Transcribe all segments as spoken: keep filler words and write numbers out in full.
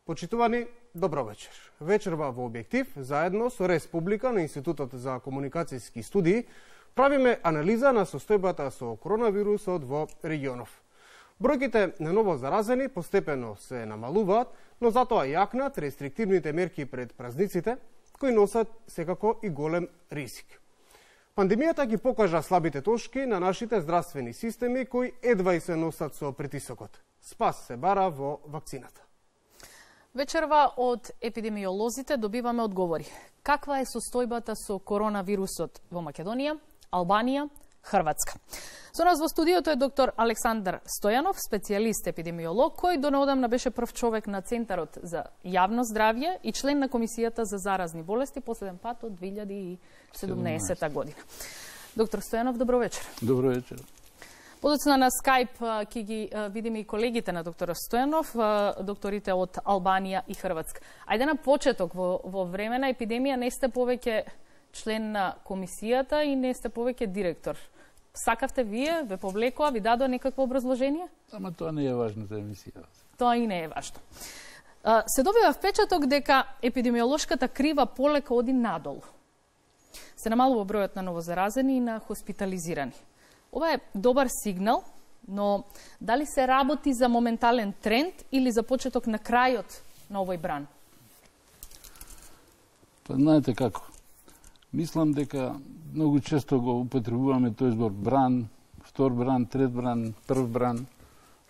Почитувани, добро вечер. Вечерва во Објектив, заедно со Республика на Институтот за комуникацијски студии, правиме анализа на состојбата со коронавирусот во регионов. Бројките на ново заразени постепено се намалуваат, но затоа јакнат рестриктивните мерки пред празниците, кои носат секако и голем ризик. Пандемијата ги покажа слабите точки на нашите здравствени системи кои едва и се носат со притисокот. Спас се бара во вакцината. Вечерва од епидемиолозите добиваме одговори. Каква е состојбата со коронавирусот во Македонија, Албанија, Хрватска? Со нас во студиото е доктор Александар Стојанов, специјалист епидемиолог, кој донаодамна беше прв човек на Центарот за јавно здравје и член на Комисијата за заразни болести последен пат од две илјади и седумнаесета година. Доктор Стојанов, добро вечер. Добро вечер. Подоцна на Скајп ќе ги видиме и колегите на доктор Стојанов, докторите од Албанија и Хрватска. Ајде на почеток, во, во време на епидемија не сте повеќе член на комисијата и не сте повеќе директор. Сакавте вие, ве повлекоа, ви дадоа некакво образложение? Ама тоа не е важно за емисијата. Тоа и не е важно. Се добива впечаток дека епидемиолошката крива полека оди надолу. Се намалува бројот на новозаразени и на хоспитализирани. Ова е добар сигнал, но дали се работи за моментален тренд или за почеток на крајот на овој бран? Па знаете како? Мислам дека многу често го употребуваме тој збор бран, втор бран, трет бран, прв бран.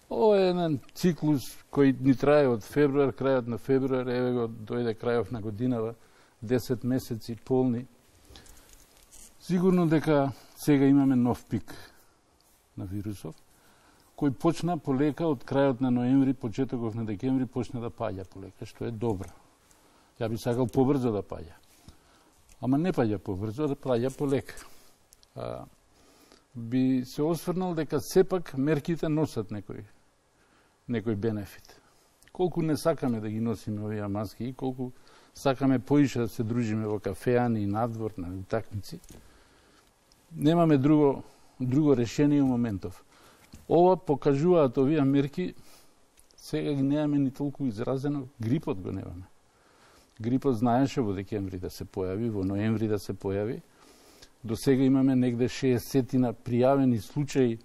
Ова е еден циклус кој ни трае од февруар, крајот на февруар, еве го дојде крајов на годинава, десет месеци полни. Сигурно дека сега имаме нов пик на вирусов, кој почна полека од крајот на ноември, почетоков на декември, почна да паѓа полека, што е добро. Ја би сакал побрзо да паѓа. Ама не паѓа побрзо, да паѓа полека. А, би се осврнал дека сепак мерките носат некој, некој бенефит. Колку не сакаме да ги носиме овие маски и колку сакаме поише да се дружиме во кафеани и надвор, на утакмици, немаме друго друго решение у моментов. Ова покажуваат овие мерки, сега ги немаме ни толку изразено, грипот го немаме. Грипот знаеше во декември да се појави, во ноември да се појави. До сега имаме негде шеесет пријавени случаи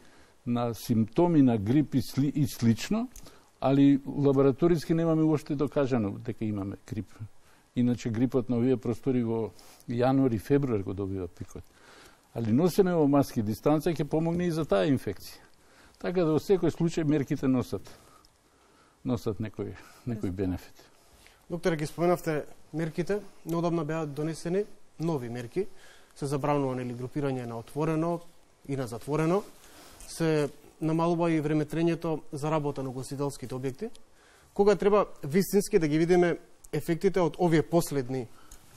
на симптоми на грип и, сли, и слично, али лабораториски немаме уоште докажано дека имаме грип. Иначе грипот на овие простори во јануари и февруар го добива пикот. Али носење во маски дистанца ќе помогне и за таа инфекција. Така да во секој случај мерките носат носат некој некој бенефит. Докторе, ги споменавте мерките, неодамна беа донесени нови мерки. Се забранува нели групирање на отворено и на затворено. Се намалува и времетрењето за работа на угостителските објекти. Кога треба вистински да ги видиме ефектите од овие последни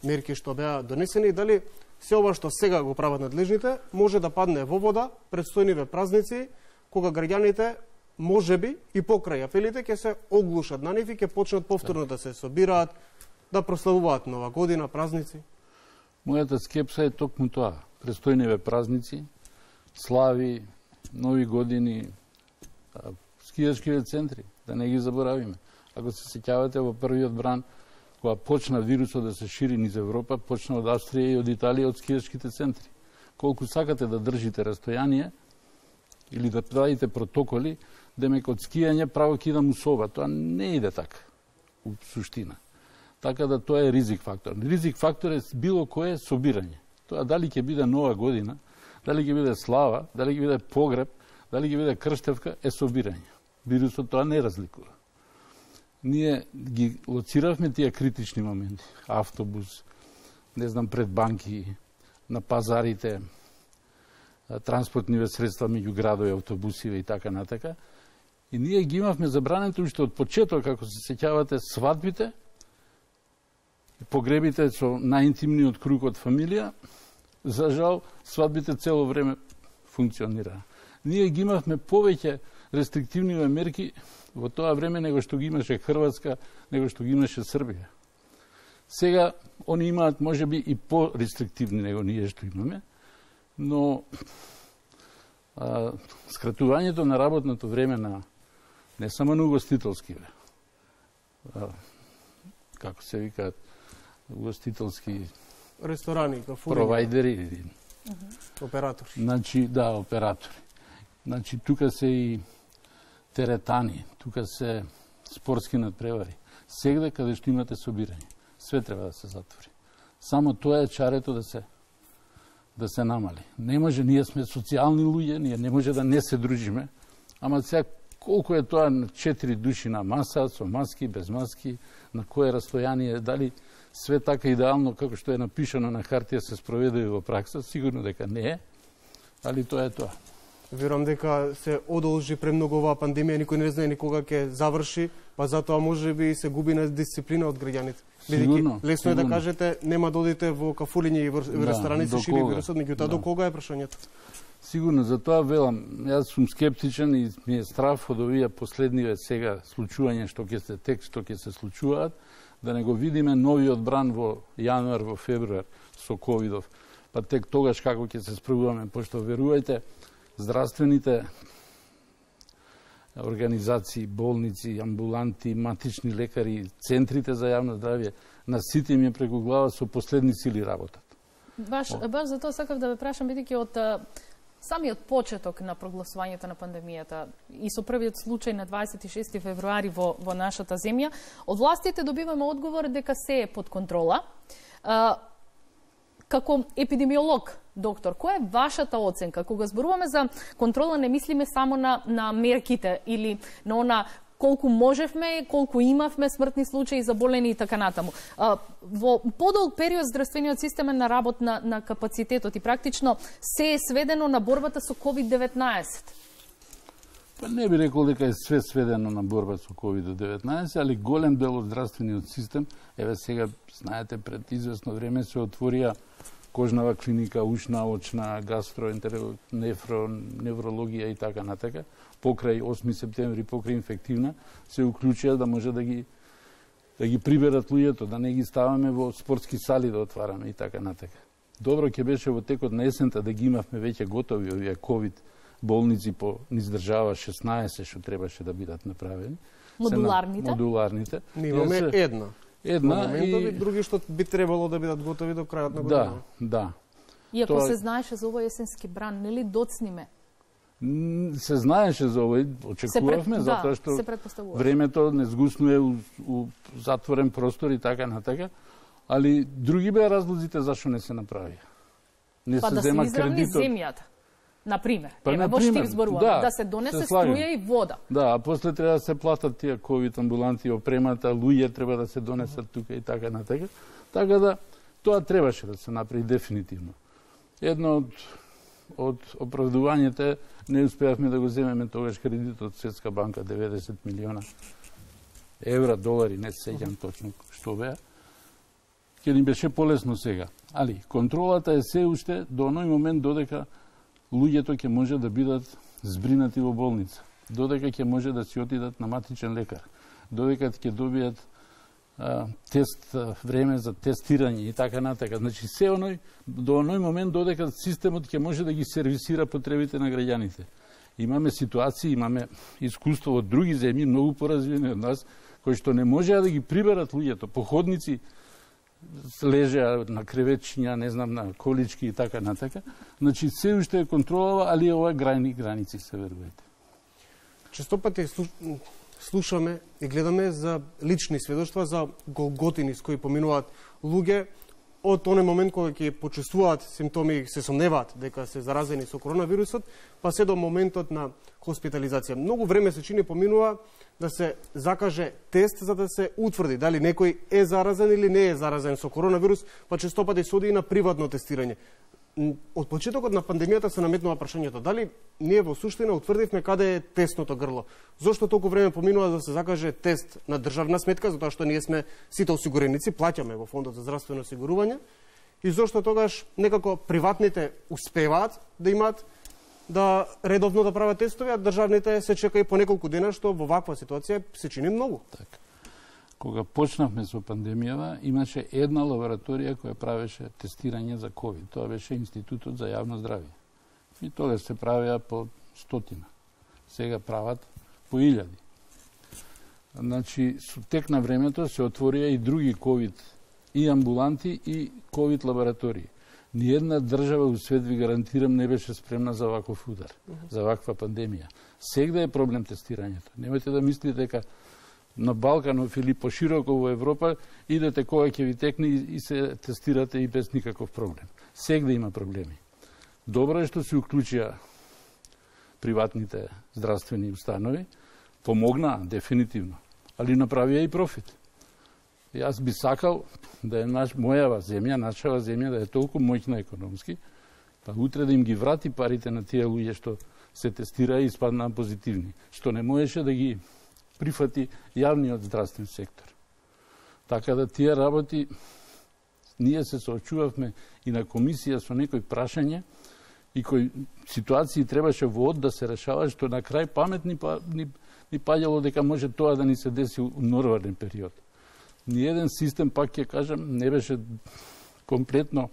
мерки што беа донесени и дали се ова што сега го прават надлежните може да падне во вода предстојниве празници, кога граѓаните можеби и покрај апелите ќе се оглушат на нив и ќе почнат повторно да се собираат, да прославуваат нова година, празници. Мојата скепса е токму тоа. Предстојниве празници, слави, нови години, скијачките центри, да не ги заборавиме. Ако се сеќавате во првиот бран, кога почна вирусот да се шири низ Европа, почна од Австрија и од Италија, од скијачките центри. Колку сакате да држите растојание или да правите протоколи, демек од скијање право ќе идам усова. Тоа не иде така, у суштина. Така да тоа е ризик фактор. Ризик фактор е било кое собирање. Тоа дали ќе биде нова година, дали ќе биде слава, дали ќе биде погреб, дали ќе биде крштевка, е собирање. Вирусот тоа не разликува. Ние ги лоциравме тие критични моменти. Автобус, не знам, пред банки, на пазарите, транспортниве средства меѓу градови, автобусиве и така натака. И ние ги имавме забрането уште од почеток, како се сеќавате, свадбите, погребите со најинтимниот круг од фамилија. За жал, свадбите цело време функционираа. Ние ги имавме повеќе рестриктивни мерки во тоа време него што ги имаше Хрватска, него што ги имаше Србија. Сега они имаат можеби и по-рестриктивни него ние што имаме, но а, скратувањето на работното време на не само на угостителски, а, како се викаат, угостителски ресторани, кафури, провайдери, uh -huh. оператори. Значи, да, оператори. Значи, тука се и теретани, тука се спортски надпревари. Сегде каде што имате собирање, све треба да се затвори. Само тоа е чарето да се да се намали. Не може, ние сме социјални луѓе, ние не може да не се дружиме, ама сега колку е тоа на четири души на маса, со маски, без маски, на кое растојание, дали све така идеално како што е напишано на хартија се спроведе во пракса, сигурно дека не е, али тоа е тоа. Верувам дека се одолжи премногу оваа пандемија, никој не знае ни кога ќе заврши, па затоа можеби се губи на дисциплина од граѓаните. Сигурно, лесно сигурно. е да кажете нема да одите во кафулиња и во да, ресторани се шири вирусот, меѓутоа да. до кога е прашањето? Сигурно, затоа велам, јас сум скептичен и ми е страф од овие последниве сега случувања што ќе се тек што ќе се случуваат, да не го видиме новиот бран во јануар, во февруар со ковидов. Па тек тогаш како ќе се справуваме, пошто верувајте, здравствените организации, болници, амбуланти, матични лекари, центрите за јавно здравје, на сите им е преку глава со последни сили работат. Баш, баш за тоа сакав да ве прашам, бидејќи од самиот почеток на прогласувањето на пандемијата и со првиот случај на дваесет и шести февруари во, во нашата земја, од властите добиваме одговор дека се е под контрола. А, како епидемиолог, доктор, која е вашата оценка? Кога зборуваме за контрола, не мислиме само на, на мерките или на она колку можевме, колку имавме смртни случаи, заболени и така натаму. А, во подолг период здравствениот систем е на работ на, на капацитетот и практично се е сведено на борбата со ковид деветнаесет. Па не би рекол дека е све сведено на борба со ковид деветнаесет, али голем дел од здравствениот систем, еве сега, знаете, пред известно време се отворија кожнава клиника, ушна, очна, гастро, нефро, неврологија и така натака. Покрај осми септември, покрај инфективна, се уклучија да може да ги да ги приберат луѓето, да не ги ставаме во спортски сали да отвараме и така натака. Добро ќе беше во текот на есента да ги имавме веќе готови овие ковид болници по низ држава шеснаесет што требаше да бидат направени. Модуларните? На, модуларните. Ние имаме се, една. Една и други што би требало да бидат готови до крајот на година. Да, да. И ако Тоа... се знаеше за овој есенски бран, нели доцниме? Се знаеше за овој, очекувавме, пред... затоа што да, времето не згуснуе у, у затворен простор и така натака, али други беа разлозите зашто не се направија. Не па се да зема се изравни кредитот. земјата. Например, па, ева во Штип зборуваме, да, да се донесе се струја и вода. Да, а после треба да се платат тие ковид амбуланти, опремата, луѓе треба да се донесат тука и така натака. Така да, тоа требаше да се направи дефинитивно. Едно од од оправдувањето не успеавме да го земеме тогаш кредит од Светска банка деветдесет милиона евра, долари, не се сеќам точно што беа. Ќе ни беше полесно сега. Али, контролата е се уште до оној момент додека луѓето ќе може да бидат збринати во болница, додека ќе може да си отидат на матичен лекар, додека ќе добијат а, тест, а, време за тестирање и така натака. Значи, се оној, до оној момент додека системот ќе може да ги сервисира потребите на граѓаните. Имаме ситуации, имаме искуство од други земји, многу поразвиени од нас, кои што не можеа да ги приберат луѓето, походници, лежеа на креветчиња, не знам, на колички и така натака. Значи, се уште е контролава, али ова грајни граници се верувајте. Често пати слушаме и гледаме за лични сведоштва, за голготини с кои поминуваат луѓе од тој момент кога ќе почувствуваат симптоми и се сомневаат дека се заразени со коронавирусот, па се до моментот на хоспитализација. Многу време се чини поминува да се закаже тест за да се утврди дали некој е заразен или не е заразен со коронавирус, па често пати се оди и на приватно тестирање. Од почетокот на пандемијата се наметнува прашањето дали ние во суштина утврдивме каде е тестното грло. Зошто толку време поминува да се закаже тест на државна сметка, затоа што ние сме сите осигуреници, плаќаме во фондот за здравствено осигурување, и зошто тогаш некако приватните успеваат да имаат да редовно да прават тестови, а државните се чека и по неколку дена, што во ваква ситуација се чини многу. Така. Кога почнавме со пандемијава, имаше една лабораторија која правеше тестирање за ковид. Тоа беше Институтот за јавно здравје. И тогаш се правеа по стотина. Сега прават по илјади. Значи, со тек на времето се отворија и други ковид, и амбуланти, и ковид лаборатории. Ниједна држава у свет, ви гарантирам, не беше спремна за ваков удар, uh -huh. за ваква пандемија. Сегда е проблем тестирањето. Немојте да мислите дека на Балканов или пошироко во Европа идете кога ќе ви текне и се тестирате и без никаков проблем. Сегда има проблеми. Добро е што се уклучија приватните здравствени установи, помогнаа дефинитивно, али направија и профит. Јас би сакал да е наш, мојава земја, нашава земја да е толку моќна економски, па утре да им ги врати парите на тие луѓе што се тестираа и испаднаа позитивни, што не можеше да ги прифати јавниот здравствен сектор. Така да тие работи, ние се соочувавме и на комисија со некои прашања и кои ситуации требаше во од да се решава, што на крај памет ни, ни, ни паѓало дека може тоа да ни се деси у нормален период. Ниеден систем, пак ќе кажам, не беше комплетно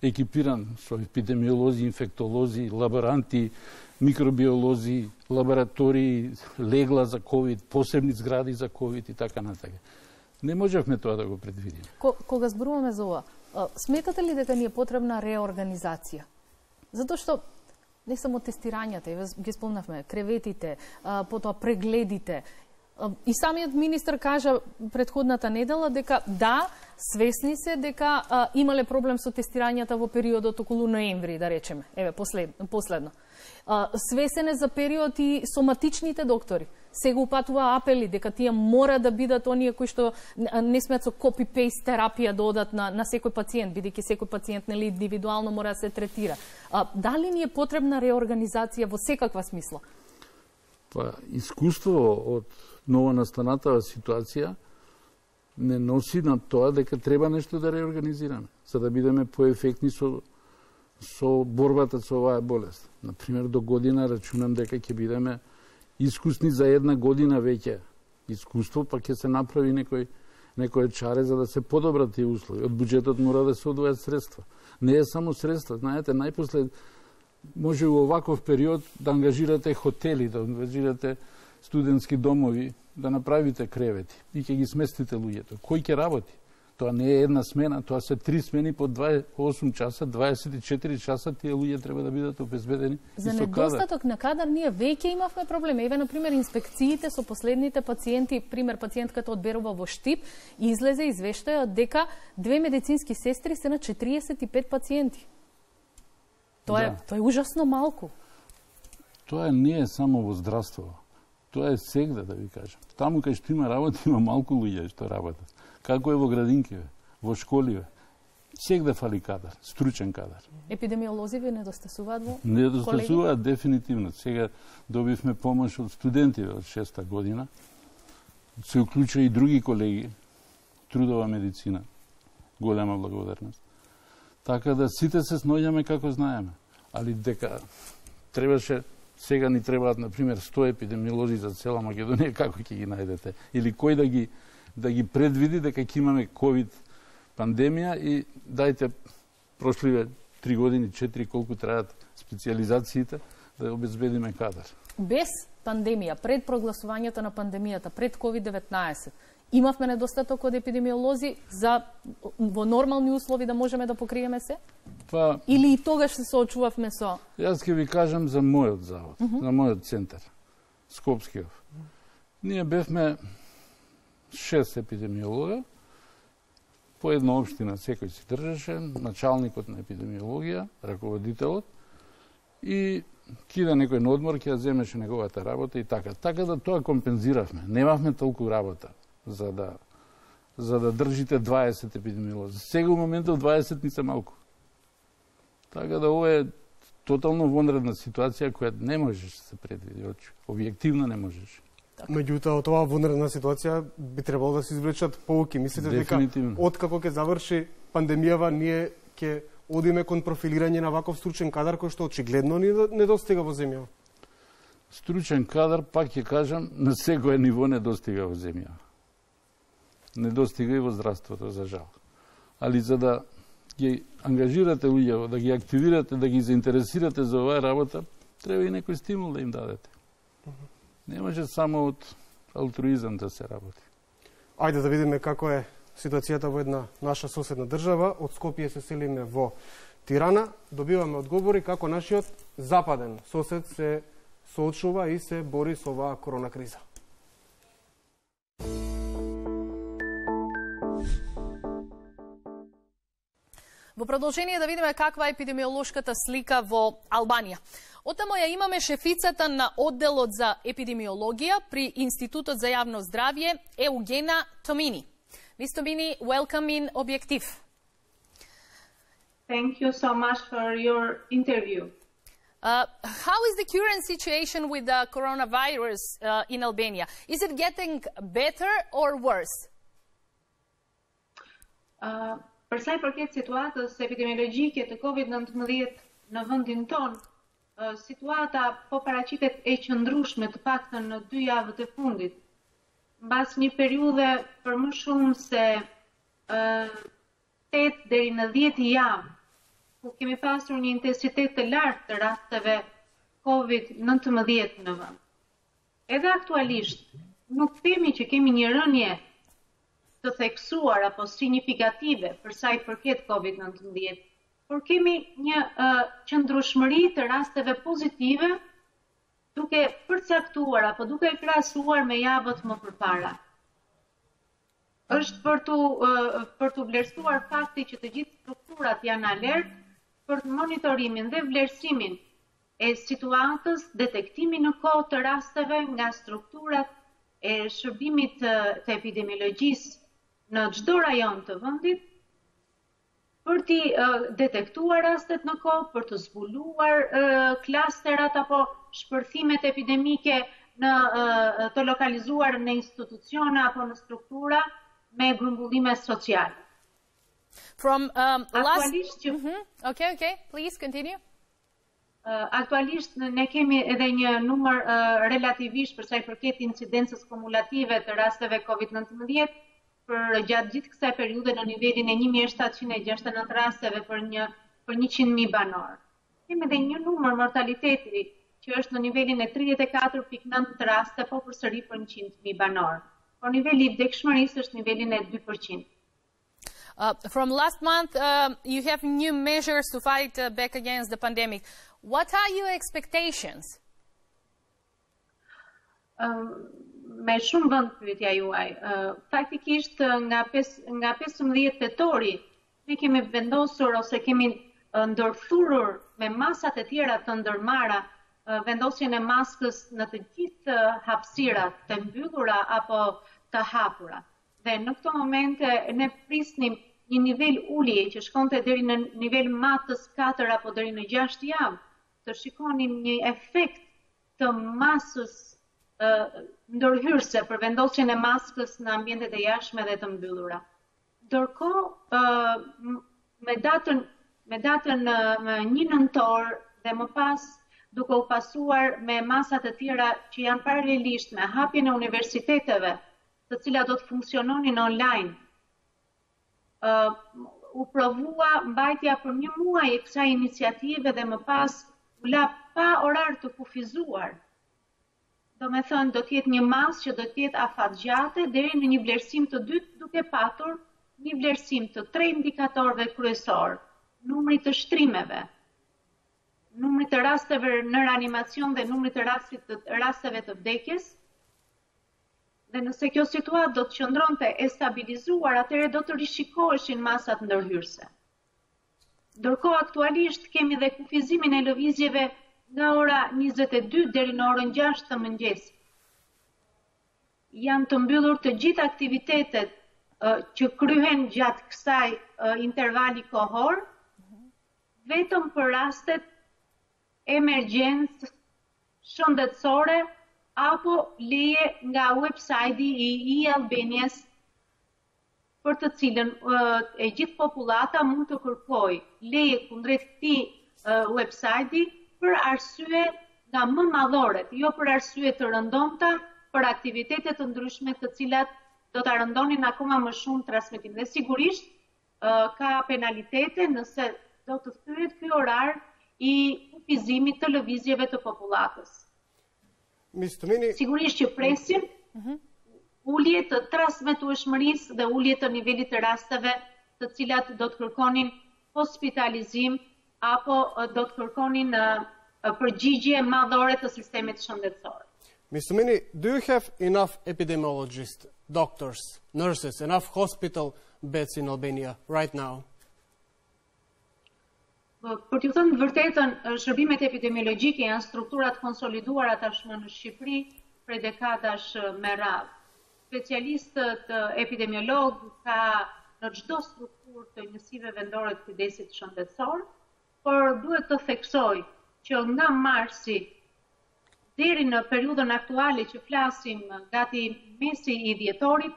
екипиран со епидемиолози, инфектолози, лаборанти, микробиолози, лаборатории, легла за ковид, посебни згради за ковид и така натака. Не можевме тоа да го предвидиме. Кога зборуваме за ова, сметате ли дека ни е потребна реорганизација? Затоа што не само тестирањата, ги спомнавме, креветите, потоа прегледите. И самиот министр кажа претходната недела дека да, свесни се дека а, имале проблем со тестирањата во периодот околу ноември, да речеме. Еве, послед, последно. А, свесен е за период и соматичните доктори. Сега упатува апели дека тие мора да бидат оние кои што не смеат со копи-пейст терапија да одат на, на секој пациент, бидејќи секој пациент нели индивидуално мора да се третира. А, дали ни е потребна реорганизација во секаква смисла? Па, искуство од новонастанатава ситуација не носи на тоа дека треба нешто да реорганизираме, за да бидеме поефектни со, со борбата со оваа болест. Например, до година рачунам дека ќе бидеме искусни за една година веќе. Искуство, па ќе се направи некој, некој чаре за да се подобрат тие услови. Од буџетот мора да се одвојат средства. Не е само средства, знаете, најпослед може во оваков период да ангажирате хотели, да ангажирате студентски домови, да направите кревети и ќе ги сместите луѓето. Кој ќе работи? Тоа не е една смена, тоа се три смени по дваесет и осум часа, дваесет и четири часа, тие луѓе треба да бидат обезбедени. За недостаток на кадар ние веќе имавме проблеми. Еве, например, инспекциите со последните пациенти, пример, пациентката од Берова во Штип, излезе извештај дека две медицински сестри се на четириесет и пет пациенти. Тоа, да. е, тоа е ужасно малку. Тоа не е само во здравство. Тоа е сегда, да ви кажам. Таму кај што има работа, има малку луѓе што работат. Како е во градинкиве, во школиве. Сегда фали кадар, стручен кадар. Епидемиолози ви недостасуваат во Не недостасуваат дефинитивно. Сега добивме помош од студенти од шеста година. Се уклучува и други колеги. Трудова медицина. Голема благодарност. Така да сите се сноѓаме како знаеме. Али дека требаше, сега ни требаат, например, сто епидемиолози за цела Македонија, како ќе ги најдете? Или кој да ги, да ги предвиди дека ќе имаме ковид пандемија и дајте прошливе три години, четири, колку трајат специализациите, да обезбедиме кадар. Без пандемија, пред прогласувањето на пандемијата, пред ковид деветнаесет, имавме недостаток од епидемиолози за во нормални услови да можеме да покриеме се? Па, или и тогаш се соочувавме со? Јас ќе ви кажам за мојот завод, uh -huh. за мојот центар, Скопскиот. Ние бевме шест епидемиолога, по една општина секој си држеше, началникот на епидемиологија, раководителот, и кида некој на одмор, ќе земеше неговата работа и така. Така да тоа компензиравме. Немавме толку работа за да за да држите дваесет епидемиолози. Сега у моментот дваесет ни се малку. Така да ова е тотално вонредна ситуација која не можеш да се предвиди, објективно не можеш. Меѓутоа, од оваа вонредна ситуација би требало да се извлечат поуки. Мислите дека откако ќе заврши пандемијава, ние ќе одиме кон профилирање на ваков стручен кадар кој што очигледно ни недостига во земјава? Стручен кадар, пак ќе кажам, на секој ниво не достига во земјава. Не достига и во здравството, за жал. Али за да ги ангажирате луѓе, да ги активирате, да ги заинтересирате за оваа работа, треба и некој стимул да им дадете. Не може само од алтруизам да се работи. Ајде да видиме како е ситуацијата во една наша соседна држава. Од Скопје се селиме во Тирана. Добиваме одговори како нашиот западен сосед се соочува и се бори со оваа корона криза. Во продолжение да видиме каква е епидемиолошката слика во Албанија. Отамо ја имаме шефицата на одделот за епидемиологија при Институтот за јавно здравје Еугена Томини. Мис Томини, welcome in Objektiv. Thank you so much for your interview. Uh, how is the current situation with the coronavirus uh, in Albania? Is it getting better or worse? Uh, Për sa i përket situatës epidemiologjike të kovid nëntëmbëdhjetë në vendin ton, uh, situata po paraqitet e qëndrueshme të paktën në dy javët e fundit. Mbas një periudhe për më shumë se uh, tetë deri në dhjetë javë, ku kemi pasur një intensitet të lartë të rasteve kovid nëntëmbëdhjetë në vend. Edhe aktualisht, nuk themi që kemi një rënje të theksuar apo signifikative për sa i përket kovid nëntëmbëdhjetë, por kemi një uh, qëndrueshmëri të rasteve pozitive duke përcaktuar apo duke krahasuar me javët më përpara. Është për të uh, për të vlerësuar fakti që të gjithë strukturat janë alert për monitorimin dhe vlerësimin e situatës, detektimin në kohë të rasteve nga strukturat e shërbimit të, të epidemiologjisë në çdo rajon të vendit, për të uh, detektuar rastet në kohë, për të zbuluar uh, klasterat apo shpërthimet epidemike në uh, të lokalizuar në institucione apo në struktura me grumbullime sociale. From um, last... Aktualisht që... Mm-hmm. Okay, okay, please continue. Uh, aktualisht ne kemi edhe një numër uh, relativisht për sa i përket incidencës kumulative të rasteve kovid nëntëmbëdhjetë për gjatë gjithë kësaj periudhe në nivelin e një mijë shtatëqind e gjashtëdhjetë e nëntë rasteve për një për njëqind mijë banor. Kemi edhe një numër mortaliteti që është në nivelin e tridhjetë e katër pikë nëntë raste po përsëri për njëqind mijë banor. Por niveli i vdekshmërisë është nivelin e dy përqind. Uh, from last month, uh, you have new measures to fight uh, back against the pandemic. What are your expectations? Um, me shumë vend pyetja juaj. Uh, faktikisht nga nga pesëmbëdhjetë tetori ne kemi vendosur ose kemi uh, ndërthurur me masat e tjera të ndërmarra uh, vendosjen e maskës në të gjithë uh, hapësirat të mbyllura apo të hapura. Dhe në këto momente ne prisnim një nivel ulje që shkonte deri në nivel matës katër apo deri në gjashtë javë, të shikonim një efekt të masës uh, ndërhyrëse për vendosjen e maskës në ambientet e jashtme dhe të mbyllura. Ndërkohë, uh, me datën me datën uh, një nëntor dhe më pas duke u pasuar me masat e tjera që janë paralelisht me hapjen e universiteteve, të cilat do të funksiononin online. Uh, u provua mbajtja për një muaj e kësaj iniciative dhe më pas u la pa orar të kufizuar. Do me thënë, do t'jetë një mas që do t'jetë afatgjate deri në një vlerësim të dytë duke patur një vlerësim të tre indikatorëve kryesor, numri të shtrimeve, numri të rasteve në reanimacion dhe numri të rasteve të vdekjes. Dhe nëse kjo situatë do të qëndronte e stabilizuar, atëherë do të rishikoheshin masat ndërhyrëse. Ndërkohë aktualisht kemi dhe kufizimin e lëvizjeve nga ora njëzet e dy deri në orën gjashtë të mëngjesit. Janë të mbyllur të gjithë aktivitetet uh, që kryhen gjatë kësaj uh, intervali kohor, vetëm për rastet emergjencë shëndetësore apo leje nga websajti i e-Albanias për të cilën uh, e gjithë populata mund të kërkoj leje kundrejt këtij uh, websajti për arsye nga më madhoret, jo për arsye të rëndomta, për aktivitete të ndryshme të cilat do ta rëndonin akoma më shumë transmetimin. Dhe sigurisht uh, ka penalitete nëse do të thyet ky orar i kufizimit të lëvizjeve të popullatës. Miss Tomini, sigurisht që presim, mm-hmm. ulje të transmetueshmërisë dhe ulje të nivelit të rasteve të cilat do të kërkonin hospitalizim apo do të kërkonin uh, përgjigje madhore të sistemit shëndetësor. Mister Mini, do you have enough epidemiologists, doctors, nurses, enough hospital beds in Albania right now? Për t'ju thënë vërtetën, shërbimet epidemiologjike janë strukturat konsoliduara tashmë në Shqipëri prej dekadash me radhë. Specialistët epidemiolog ka në çdo strukturë të njësive vendore të kujdesit shëndetësor, por duhet të theksoj që nga marsi deri në periudhën aktuale që flasim gati mesi i dhjetorit,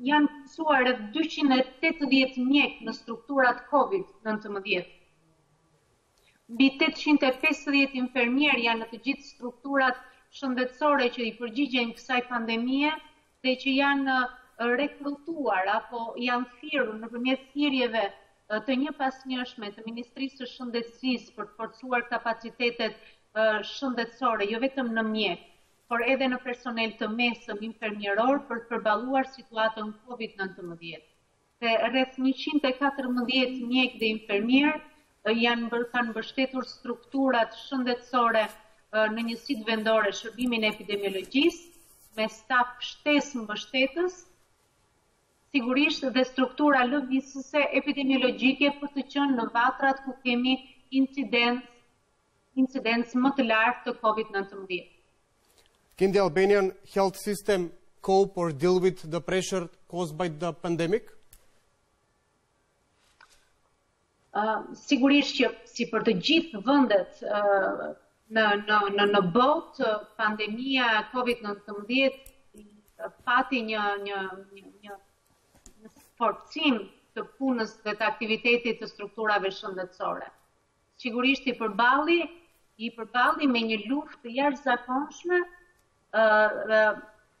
janë mësuar rreth dyqind e tetëdhjetë mjek në strukturat COVID nëntëmbëdhjetë. Mbi tetëqind e pesëdhjetë infermier janë në të gjithë strukturat shëndetësore që i përgjigjen kësaj pandemie dhe që janë rekrutuar apo janë thirrur nëpërmjet thirrjeve të njëpasnjëshme të Ministrisë së Shëndetësisë për të forcuar kapacitetet shëndetësore, jo vetëm në mjek, por edhe në personel të mesëm infermieror për të përballuar situatën COVID nëntëmbëdhjetë. Dhe rreth njëqind e katërmbëdhjetë mjek dhe infermier janë kanë mbështetur strukturat shëndetësore në njësitë vendore shërbimin e epidemiologjisë me staf shtesë mbështetës, sigurisht dhe struktura lëvizëse epidemiologjike për të qenë në vatrat ku kemi incidencë incidencë më të lartë të COVID nëntëmbëdhjetë. Can the Albanian health system cope or deal with the pressure caused by the pandemic? Uh, sigurisht që si për të gjithë vendet uh, në në në në botë, pandemia COVID nëntëmbëdhjetë pati një një një një, një forcim të punës dhe të aktivitetit të strukturave shëndetësore. Sigurisht i përballi i përballi me një luftë të jashtëzakonshme,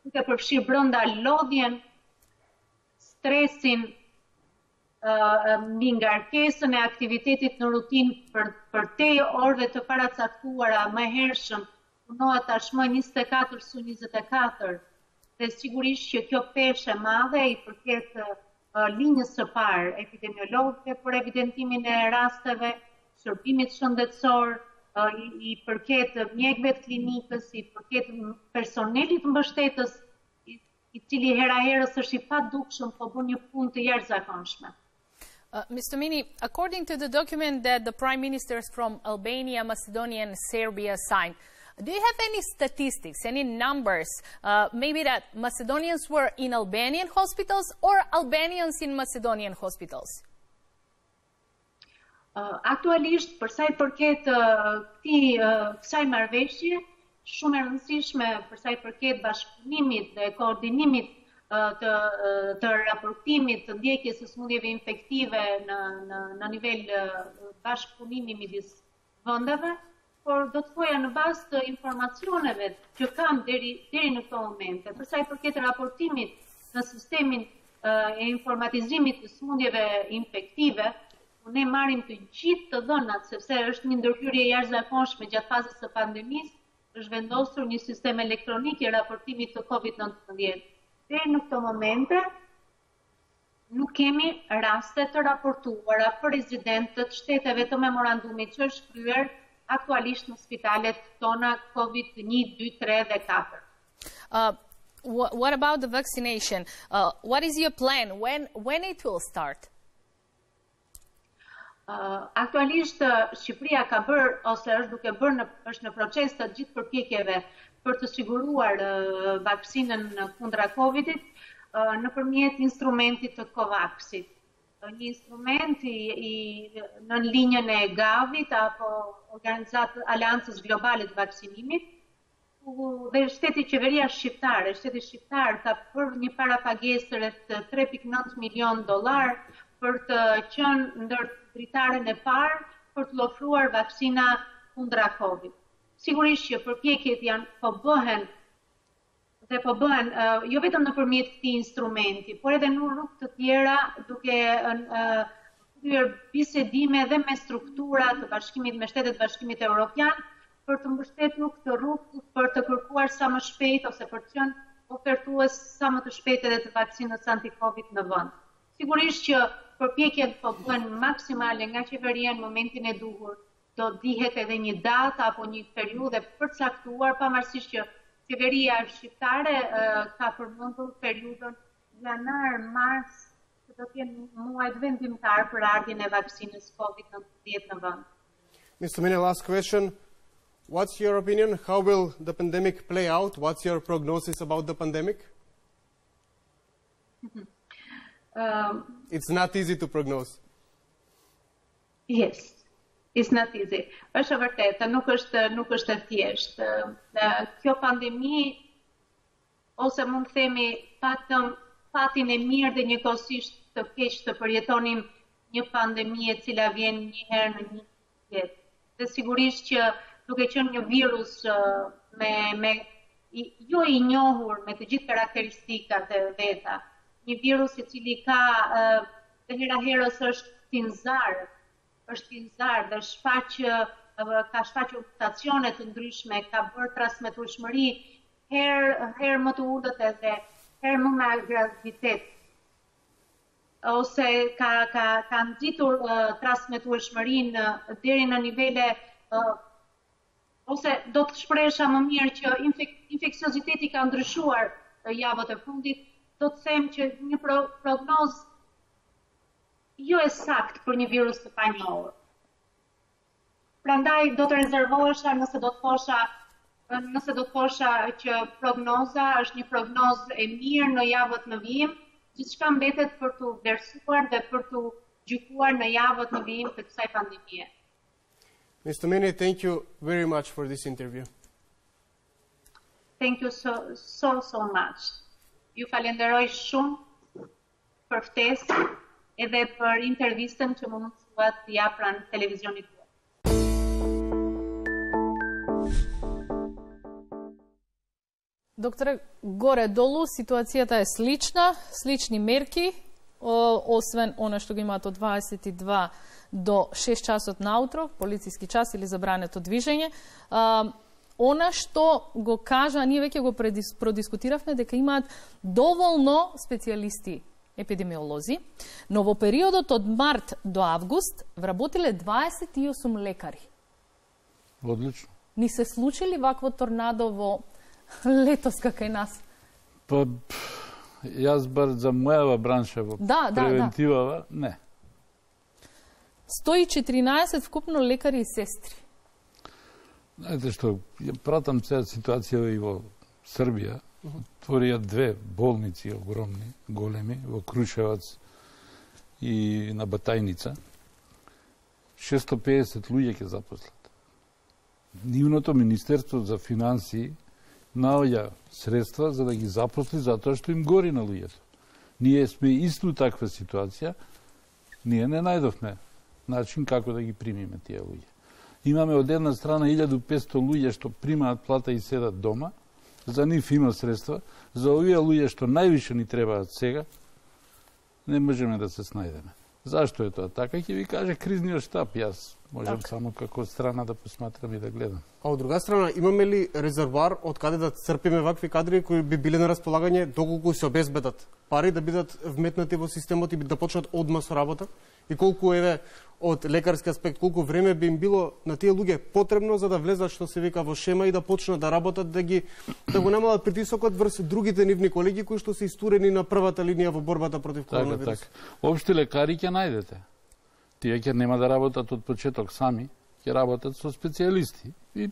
duke përfshirë brenda lodhjen, stresin, mbi ngarkesën e aktivitetit në rutinë për për te orëve të paracaktuara më hershëm, punohet tashmë njëzet e katër su njëzet e katër, dhe sigurisht që kjo peshë e madhe i përket linjës së parë epidemiologëve për evidentimin e rasteve, shërbimit shëndetësor, i, i përket mjekëve të klinikës, i përket personelit mbështetës, i, i cili hera herës është i padukshëm, po bën një punë të jashtëzakonshme. Uh, Mister Mini, according to the document that the prime ministers from Albania, Macedonia and Serbia signed, do you have any statistics, any numbers, uh, maybe that Macedonians were in Albanian hospitals or Albanians in Macedonian hospitals? Uh, aktualisht, për sa i përket uh, këtij uh, kësaj marrëveshje, shumë e rëndësishme për sa i përket bashkëpunimit dhe koordinimit uh, të uh, të raportimit të ndjekjes së sëmundjeve infektive në në në nivel uh, bashkëpunimi midis vendeve, por do të thoja në bazë të informacioneve që kam deri deri në këtë moment, për sa i përket raportimit në sistemin uh, e informatizimit të sëmundjeve infektive, ne marrim të gjithë të dhënat, sepse është një ndërhyrje jashtëzakonshme gjatë fazës së pandemisë, është vendosur një sistem elektronik i raportimit të COVID nëntëmbëdhjetë. Deri në këtë momente nuk kemi raste të raportuara për rezidentët shteteve të memorandumit që është kryer aktualisht në spitalet tona COVID një, dy, tre dhe katër. Uh, wh what about the vaccination? Uh, what is your plan? When when it will start? Uh, aktualisht Shqipëria ka bërë ose është duke bërë në, është në proces të gjithë përpjekjeve për të siguruar uh, vaksinën kundra Covidit uh, nëpërmjet instrumentit të COVAX-it. Uh, një instrument i, i në linjën e Gavit apo Organizatë Aleancës Globale të Vaksinimit, dhe shteti qeveria shqiptare, shteti shqiptar ka për një parapagesë rreth tre pikë nëntë milion dollar për të qenë ndër dritaren e parë për të ofruar vaksina kundra Covid. Sigurisht që përpjekjet janë po bëhen dhe po bëhen uh, jo vetëm nëpërmjet këtij instrumenti, por edhe në rrugë të tjera duke uh, kryer bisedime dhe me struktura të bashkimit me Shtetet Bashkimit Evropian për të mbështetur këtë rrugë për të kërkuar sa më shpejt ose për të qenë ofertues sa më të shpejtë edhe të vaksinës anti-Covid në vend. Sigurisht që përpjekjet po bëhen maksimale nga qeveria në momentin e duhur. Do dihet edhe një datë apo një periudhë përcaktuar, pavarësisht që qeveria shqiptare uh, ka përmendur periudhën janar-mars, që do të jenë muajt vendimtar për ardhjen e vaksinës Covid nineteen në vend. Mister Mine, last question. What's your opinion? How will the pandemic play out? What's your prognosis about the pandemic? um, it's not easy to prognose. Yes. It's not easy. Është e vërtetë, nuk është nuk është e thjeshtë. Kjo pandemi, ose mund të themi patëm fatin e mirë dhe njëkohësisht të keq të përjetonim një pandemi e cila vjen një herë në një jetë. Dhe sigurisht që duke qenë një virus me me jo i njohur, me të gjithë karakteristikat e veta, një virus i cili ka dhe hera herës është tinzar, është tinzar dhe shfaq, ka shfaqur mutacione të ndryshme, ka bërë transmetueshmëri herë her më të ulët edhe herë më me graviditet. Ose ka ka ka nxitur uh, transmetueshmërinë deri në nivele uh, ose do të shpresha më mirë që infek infekcioziteti ka ndryshuar uh, javët e fundit, do të them që një pro prognozë jo e saktë për një virus të panjohur. Prandaj do të rezervohesha nëse do të thosha nëse do të thosha që prognoza është një prognozë e mirë në javët në vijim, gjithçka mbetet për të vlerësuar dhe për të gjykuar në javët në vijim të kësaj pandemie. Mister Mine, thank you very much for this interview. Thank you so so so much. Ju falenderoj shumë për ftesën edhe për intervistën që më mundësuat të jap pranë televizionit tuaj. Докторе, горе-долу ситуацијата е слична, слични мерки, освен она што го имаат од дваесет и два до шест часот наутро, полициски час или забрането движење. Она што го кажа, ние веќе го продискутиравме, дека имаат доволно специјалисти епидемиолози, но во периодот од март до август вработиле дваесет и осум лекари. Одлично. Ни се случили вакво торнадо во летос кај нас? Па, јас бар за мојава бранша во да, превентивава, да, да. не. сто и четиринаесет вкупно лекари и сестри. Знаете што, ја пратам цела ситуација и во Србија. Отворија две болници огромни, големи, во Крушевац и на Батајница. шестстотини и педесет луѓе ќе запослат. Нивното Министерство за финансии наоѓа средства за да ги запосли затоа што им гори на луѓето. Ние сме исту таква ситуација, ние не најдовме начин како да ги примиме тие луѓе. Имаме од една страна илјаду и петстотини луѓе што примаат плата и седат дома, за нив има средства, за овие луѓе што највише ни требаат сега, не можеме да се снајдеме. Зашто е тоа така? Ќе ви каже кризниот штаб, јас можам так само како страна да посматрам и да гледам. А од друга страна, имаме ли резервоар од каде да црпиме вакви кадри кои би биле на располагање доколку се обезбедат пари да бидат вметнати во системот и да почнат одма со работа? И колку еве од лекарски аспект, колку време би им било на тие луѓе потребно за да влезат, што се вика, во шема и да почнат да работат, да ги да го намалат притисокот врз другите нивни колеги кои што се истурени на првата линија во борбата против коронавирус. Така, така. Општи лекари ќе најдете. Тие ќе нема да работат од почеток сами, ќе работат со специјалисти и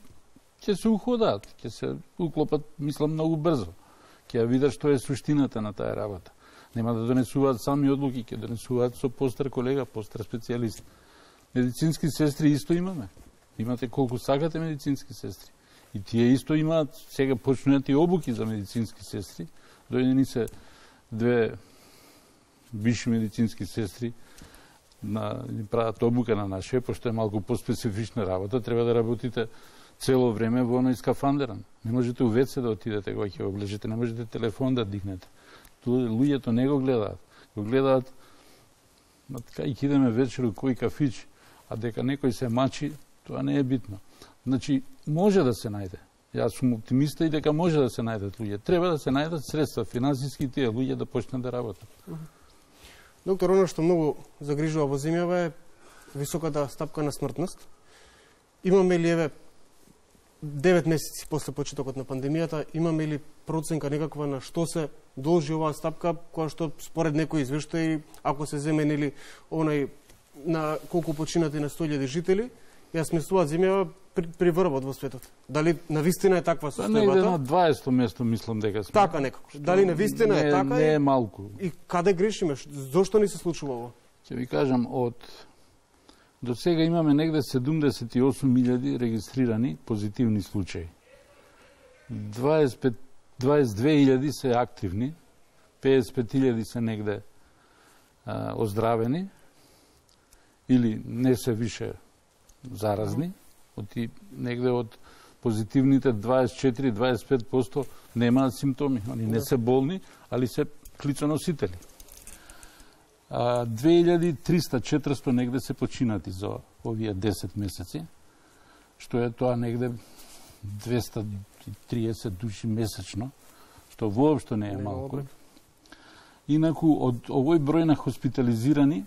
ќе се уходат, ќе се уклопат, мислам, многу брзо. Ќе видат што е суштината на таа работа. Нема да донесуваат сами одлуки, ќе донесуваат со постар колега, постар специјалист. Медицински сестри исто имаме. Имате колку сакате медицински сестри. И тие исто имаат, сега почнуваат и обуки за медицински сестри. Дојдени се две висши медицински сестри на прават обука на наше, пошто е малку поспецифична работа, треба да работите цело време во оној скафандеран. Не можете у вец да отидете кога ќе облежите, не можете телефон да дигнете. Луѓето не го гледаат. Го гледаат, ма така и кидеме вечер у кој кафич, а дека некој се мачи, тоа не е битно. Значи, може да се најде. Јас сум оптимиста и дека може да се најдат луѓе. Треба да се најдат средства финансиски тие луѓе да почнат да работат. Доктор, оно што многу загрижува во земјава е високата стапка на смртност. Имаме ли еве девет месеци после почетокот на пандемијата, имаме ли проценка некаква на што се должи оваа стапка, која што според некои извештаи, ако се земе нели онај на колку починати на сто илјади жители, ја сместуваат земјава при, при врвот во светот. Дали навистина е таква состојбата? Негде на дваесетто место мислам дека сме. Така некако. Дали навистина не, е така? Не е малку. И каде грешиме? Зошто ни се случува ово? Ќе ви кажам, од до сега имаме негде седумдесет и осум илјади регистрирани позитивни случаи. дваесет и пет, дваесет и две илјади се активни, педесет и пет илјади се негде а, оздравени или не се више заразни. Оти негде од позитивните дваесет и четири до дваесет и пет проценти немаат симптоми. Они не се болни, али се клицоносители. две илјади триста до четиристо негде се починати за овие десет месеци, што е тоа негде двеста и триесет души месечно, што воопшто не е малку. Инаку, од овој број на хоспитализирани,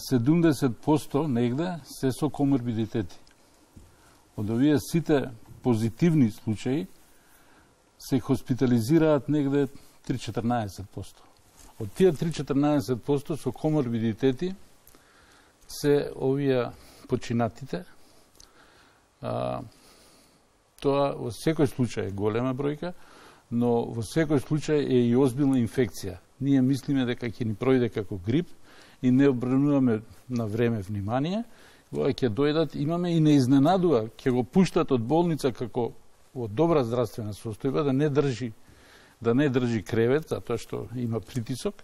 седумдесет проценти негде се со коморбидитети. Од овие сите позитивни случаи се хоспитализираат негде три до четрнаесет проценти. Од тие три до четрнаесет проценти со коморбидитети се овие починатите. А, тоа во секој случај е голема бројка, но во секој случај е и озбилна инфекција. Ние мислиме дека ќе ни пројде како грип и не обрнуваме на време внимание. Кога ќе дојдат, имаме и не изненадува, ќе го пуштат од болница како во добра здравствена состојба, да не држи да не држи кревет, затоа што има притисок,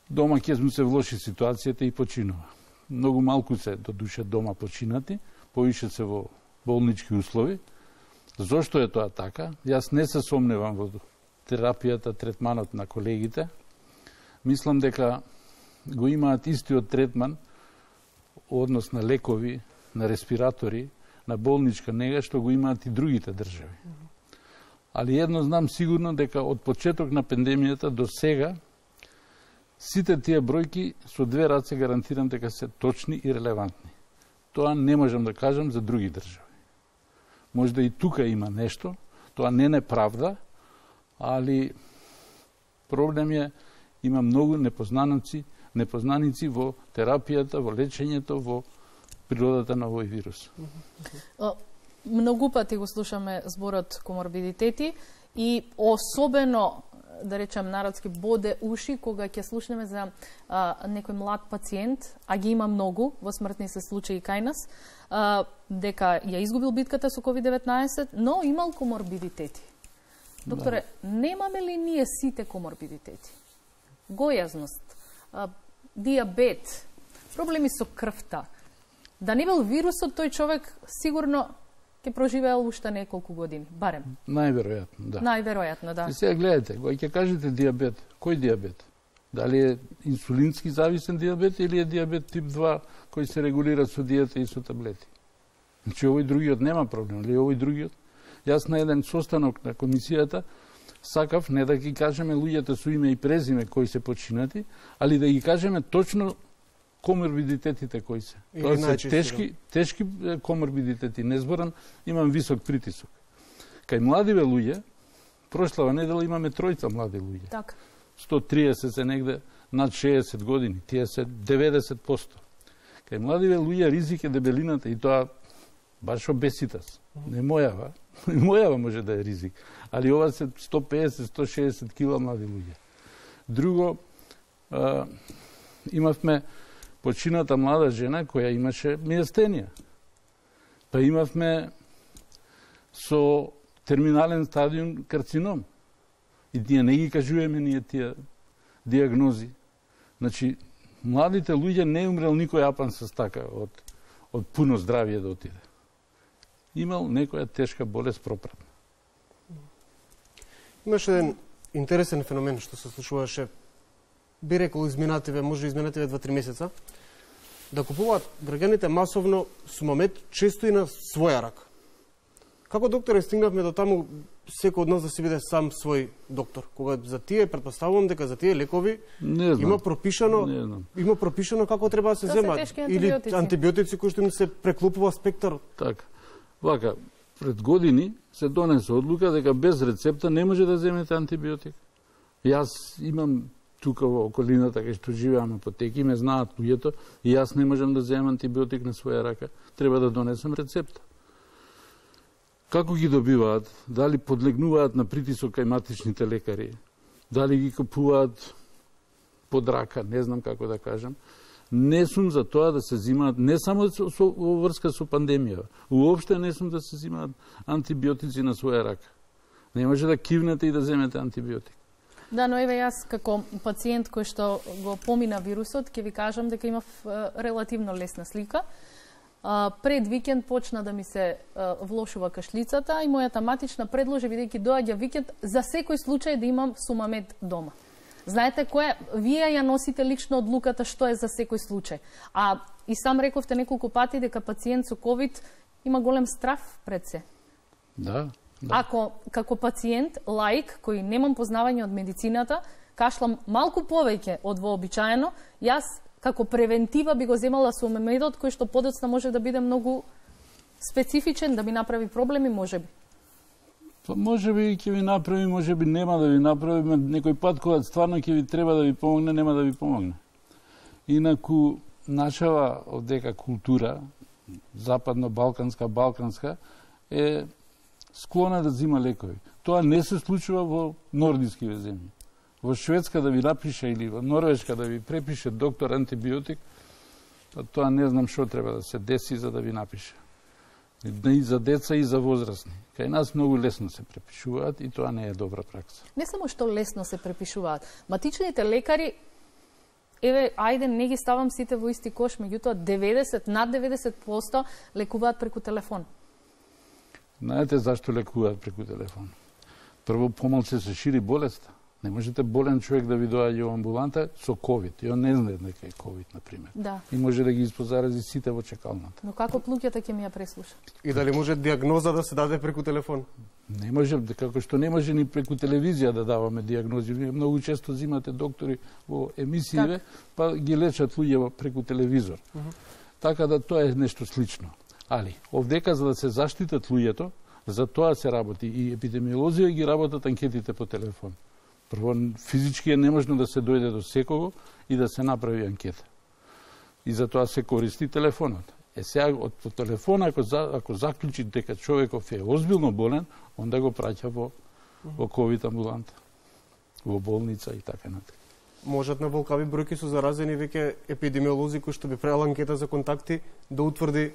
дома ќе му се влоши ситуацијата и починува. Многу малку се до душе дома починати, повише се во болнички услови. Зошто е тоа така? Јас не се сомневам во терапијата, третманот на колегите. Мислам дека го имаат истиот третман, однос на лекови, на респиратори, на болничка нега, што го имаат и другите држави. Али едно знам сигурно дека од почеток на пандемијата до сега сите тие бројки со две раце гарантирам дека се точни и релевантни. Тоа не можам да кажам за други држави. Можда и тука има нешто, тоа не е правда, али проблем е, има многу непознаници, непознаници во терапијата, во лечењето, во природата на овој вирус. Многу пати го слушаме зборот коморбидитети и особено, да речем, народски боде уши кога ќе слушнеме за а, некој млад пациент, а ги има многу во смртни се случаи кај нас, а, дека ја изгубил битката со ковид деветнаесет, но имал коморбидитети. Докторе, да. Немаме ли ние сите коморбидитети? Гојазност, а, диабет, проблеми со крвта. Да не бил вирусот, тој човек сигурно ќе проживеел уште неколку години, барем. Најверојатно, да. Најверојатно, да. И сега гледате, кога ќе кажете диабет, кој диабет? Дали е инсулински зависен диабет или е диабет тип два кој се регулира со диета и со таблети? Значи овој другиот нема проблем, или овој другиот? Јас на еден состанок на комисијата сакав не да ги кажеме луѓето со име и презиме кои се починати, али да ги кажеме точно коморбидитетите кои се. Тоа се тешки, тешки коморбидитети. Не зборам, имам висок притисок. Кај младиве луѓе, прошлава недела имаме тројца млади луѓе. Така. сто триесет се негде над шеесет години, тие се деветдесет проценти. Кај младиве луѓе ризик е дебелината и тоа баш обеситас. Не мојава, не мојава може да е ризик, али ова се сто педесет до сто шеесет кила млади луѓе. Друго, а, имавме почината млада жена која имаше миестенија. Па имавме со терминален стадиум карцином. И ние не ги кажуваме ние тие диагнози. Значи, младите луѓе не е умрел никој апан со стака од, од пуно здравие да отиде. Имал некоја тешка болест пропратна. Имаше еден интересен феномен што се случуваше, би рекол изминативе, може изминативе два-три месеца, да купуваат граѓаните масовно сумамет, често и на своја рака. Како доктори стигнавме до таму секој од нас да си биде сам свој доктор? Кога за тие претпоставувам дека за тие лекови има пропишано, има пропишано како треба да се земат или антибиотици кои што им се преклопува спектарот. Така. Вака, пред години се донесе одлука дека без рецепта не може да земете антибиотик. Јас имам тука во околината кај што живеам апотеки, ме знаат луѓето и јас не можам да земам антибиотик на своја рака. Треба да донесам рецепта. Како ги добиваат? Дали подлегнуваат на притисок кај матичните лекари? Дали ги купуваат под рака? Не знам како да кажам. Не сум за тоа да се зимаат, не само во врска со пандемија, уопште не сум да се зимаат антибиотици на своја рака. Не може да кивнете и да земете антибиотик. Да, но еве јас како пациент кој што го помина вирусот, ќе ви кажам дека имав релативно лесна слика. Пред викенд почна да ми се влошува кашлицата и мојата матична предложи, бидејќи доаѓа викенд, за секој случај да имам сумамед дома. Знаете која? Вие ја носите лично одлуката што е за секој случај. А и сам рековте неколку пати дека пациент со ковид има голем страф пред се. Да. Да. Ако како пациент, лаик, кој немам познавање од медицината, кашлам малку повеќе од вообичаено, јас како превентива би го земала сумамедот кој што подоцна може да биде многу специфичен, да ми направи проблеми, можеби. Па можеби ќе ви направи, можеби нема да ви направи, некој пат кога стварно ќе ви треба да ви помогне, нема да ви помогне. Инаку нашава одека култура, западно-балканска, балканска, е склона да зима лекови. Тоа не се случува во нордиски земји. Во Шведска да ви напише или во Норвешка да ви препише доктор антибиотик, тоа не знам што треба да се деси за да ви напише. И за деца и за возрастни. Кај нас многу лесно се препишуваат и тоа не е добра пракса. Не само што лесно се препишуваат. Матичните лекари, еве, ајде, не ги ставам сите во исти кош, меѓутоа деветдесет, над деветдесет проценти лекуваат преку телефон. Знаете зашто лекуваат преку телефон? Прво, помалце се шири болеста. Не можете болен човек да ви доаѓа во амбуланта со ковид. И он не знае дека е ковид, например. Да. И може да ги испозарази сите во чекалната. Но како луѓето ќе ми ја преслушат? И дали може диагноза да се даде преку телефон? Не може, како што не може ни преку телевизија да даваме диагнози. Вие многу често зимате доктори во емисиите, па ги лечат луѓе преку телевизор. Uh -huh. Така да тоа е нешто слично. Али, овдека за да се заштитат луѓето, за тоа се работи. И епидемиолозија ги работат анкетите по телефон. Прво, физички е неможно да се дојде до секого и да се направи анкета. И за тоа се користи телефонот. Е сега, од по телефона, ако, за, ако заклучи дека човеков е озбилно болен, онда го праќа во, во ковид амбуланта, во болница и така натаму. Можат на волкави бројки со заразени веќе епидемиолози кои што би правила анкета за контакти да утврди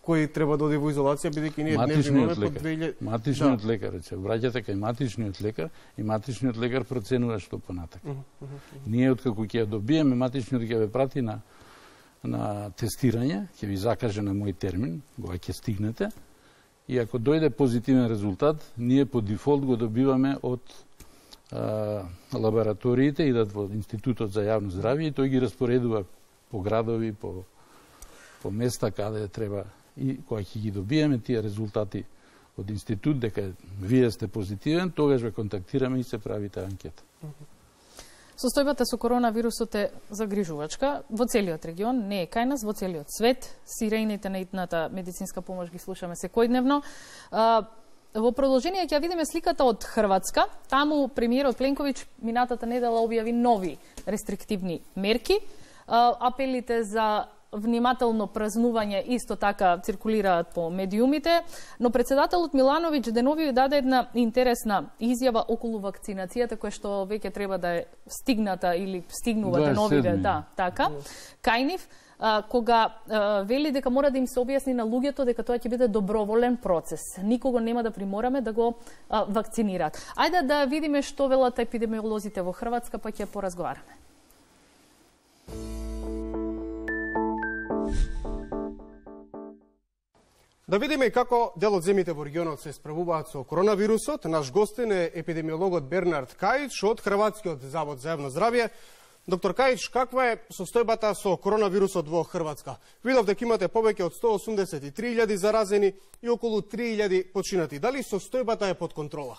кој треба да оди во изолација, бидејќи ние днес имаме по две илјади... Матичниот да. лекар, се враќате кај матичниот лекар и матичниот лекар проценува што понатака. Uh -huh, uh -huh. Ние откако ќе ја добиеме, матичниот ќе ве прати на на тестирање, ќе ви закаже на мој термин, кога ќе стигнете, и ако дојде позитивен резултат, ние по дефолт го добиваме од а, лабораториите, идат во Институтот за јавно здравје и тој ги распоредува по градови, по, по места каде треба. И кога ќе ги добиеме тие резултати од институт дека вие сте позитивен, тогаш ве контактираме и се прави таа анкета. Состојбата со коронавирусот е загрижувачка во целиот регион, не е кај нас, во целиот свет. Сирените на итната медицинска помош ги слушаме секојдневно. Во продолжение ќе видиме сликата од Хрватска. Таму премиерот Пленковиќ минатата недела објави нови рестриктивни мерки. Апелите за внимателно празнување исто така циркулираат по медиумите, но председателот Милановиќ денови даде една интересна изјава околу вакцинацијата која што веќе треба да е стигната или стигнува деновиве, да, така. Кај нив, кога а, вели дека мора да им се објасни на луѓето дека тоа ќе биде доброволен процес. Никого нема да примораме да го а, вакцинираат. Ајде да видиме што велат епидемиолозите во Хрватска, па ќе поразговараме. Да видиме како дел од земјите во регионот се справуваат со коронавирусот. Наш гостин е епидемиологот Бернард Кајич од Хрватскиот завод за јавно здравје. Доктор Кајич, каква е состојбата со коронавирусот во Хрватска? Видов дека имате повеќе од сто осумдесет и три илјади заразени и околу три илјади починати. Дали состојбата е под контрола?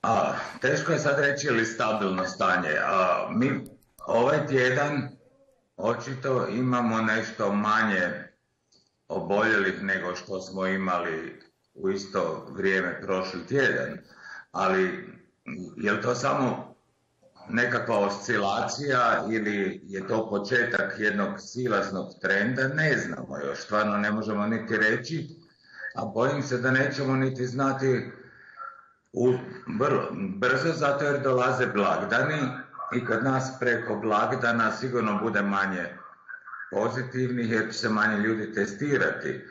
А, тешко е сад речи или стабилно стање. А, ми овај тjedan очито имамо нешто мање оболелих него што смо имали у исто вриеме прошли тjedan. Ali je li to samo nekakva oscilacija ili je to početak jednog silaznog trenda? Ne znamo još, stvarno ne možemo niti reći, a bojim se da nećemo niti znati u vrlo brzo, zato jer dolaze blagdani i kod nas preko blagdana sigurno bude manje pozitivnih jer će se manje ljudi testirati.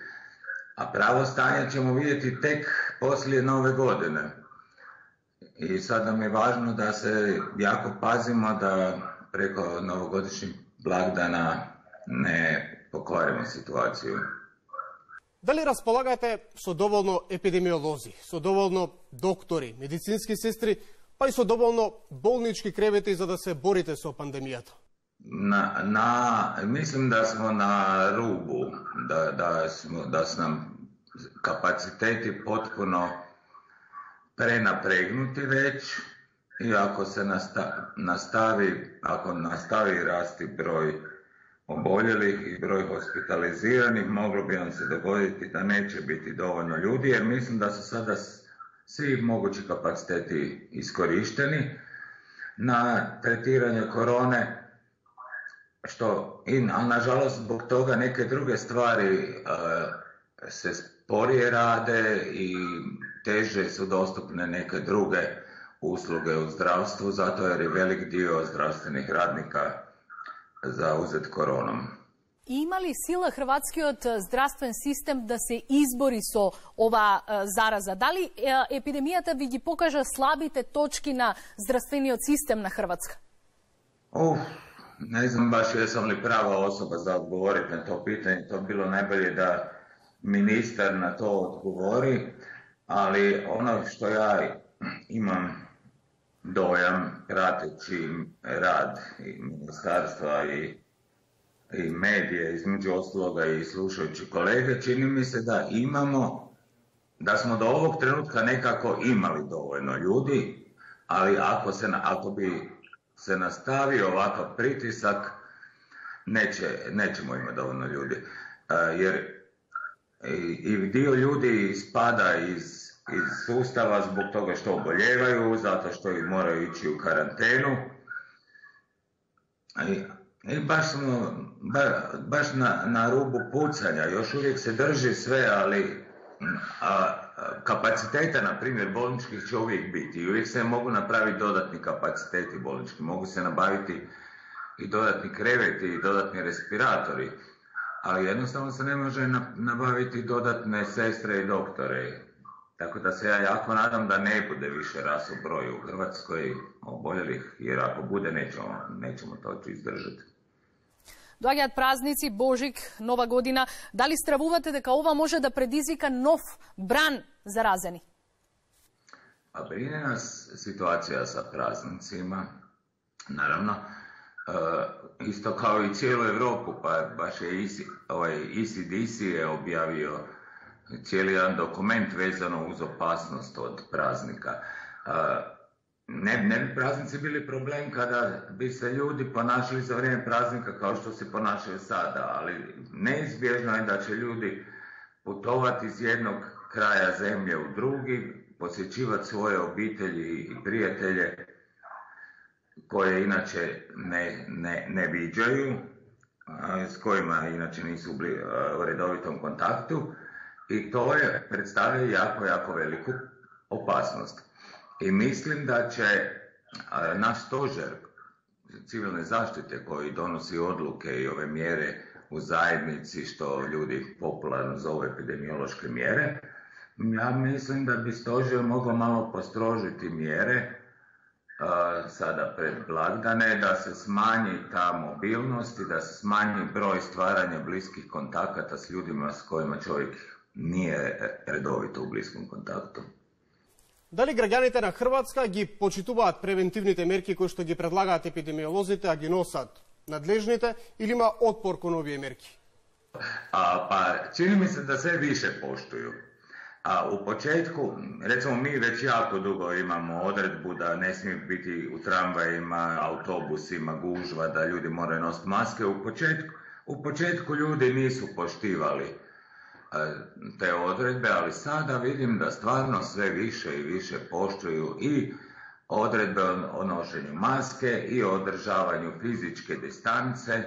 A pravo stanje ćemo vidjeti tek poslije nove godine. I sad nam je važno da se jako pazimo da preko novogodišnjih blagdana ne pokvarimo situaciju. Da li располагате со доволно епидемиолози, со доволно доктори, медицински сестри, па и со доволно болнички кревети за да се борите со пандемијата? Na, na, mislim da smo na rubu, da, da, smo, da su nam kapaciteti potpuno prenapregnuti već i ako se nastavi, ako nastavi rasti broj oboljelih i broj hospitaliziranih, moglo bi nam se dogoditi da neće biti dovoljno ljudi, jer mislim da su sada svi mogući kapaciteti iskorišteni na tretiranje korone, što, i, ali nažalost zbog toga neke druge stvari uh, se sporije rade i teže su dostupne neke druge usluge u zdravstvu, zato jer je velik dio zdravstvenih radnika zauzet koronom. Има ли сила хрватскиот здравствен систем да се избори со ова зараза? Дали епидемијата ви ги покажа слабите точки на здравствениот систем на Хрватска? Уф, ne znam baš jesam li prava osoba za odgovoriti na to pitanje. To bi bilo najbolje da ministar na to odgovori, ali ono što ja imam dojam prateći rad i ministarstva i, i medije, između ostaloga i slušajući kolege, čini mi se da imamo, da smo do ovog trenutka nekako imali dovoljno ljudi, ali ako, se, ako bi se nastavio ovakav pritisak, neće, nećemo imati dovoljno ljudi. Jer i, i dio ljudi ispada iz iz sustava zbog toga što oboljevaju, zato što i moraju ići u karantenu. I, i baš smo ba, baš na, na rubu pucanja. Još uvijek se drži sve, ali a, a, kapaciteta, na primjer, bolničkih će uvijek biti. I uvijek se mogu napraviti dodatni kapaciteti bolnički. Mogu se nabaviti i dodatni kreveti i dodatni respiratori. Ali jednostavno se ne može nabaviti dodatne sestre i doktore. Tako da se ja jako nadam da ne bude više rast u broju u Hrvatskoj oboljelih, jer ako bude nećemo, nećemo to izdržati. Доаѓаат празници, Божик, Нова година. Дали стравувате дека ова може да предизвика нов бран заразени? Pa brine nas situacija sa praznicima, naravno, e, isto kao i cijelu Evropu, pa baš je ovaj E C D C je objavio cijeli jedan dokument vezano uz opasnost od praznika. Ne, ne bi praznici bili problem kada bi se ljudi ponašali za vrijeme praznika kao što se ponašaju sada, ali neizbježno je da će ljudi putovati iz jednog kraja zemlje u drugi, posjećivati svoje obitelji i prijatelje koje inače ne, ne, ne viđaju, s kojima inače nisu u redovitom kontaktu. I to je predstavlja jako, jako veliku opasnost. I mislim da će naš stožer civilne zaštite koji donosi odluke i ove mjere u zajednici, što ljudi popularno zove epidemiološke mjere, ja mislim da bi stožer mogao malo postrožiti mjere a, sada pred blagdane, da se smanji ta mobilnost i da se smanji broj stvaranja bliskih kontakata s ljudima s kojima čovjek nije redovito u bliskom kontaktu. Дали граѓаните на Хрватска ги почитуваат превентивните мерки кои што ги предлагаат епидемиолозите, а ги носат надлежните, или има отпор кон овие мерки? А, па, чини ми се да се више поштуju. A u početku, recimo mi već jako dugo imamo odredbu da ne smije biti u tramvajima, autobusima, gužva, da ljudi moraju nositi maske. U početku, u početku ljudi nisu poštivali te odredbe, ali sada vidim da stvarno sve više i više poštuju i odredbe o nošenju maske i o održavanju fizičke distance.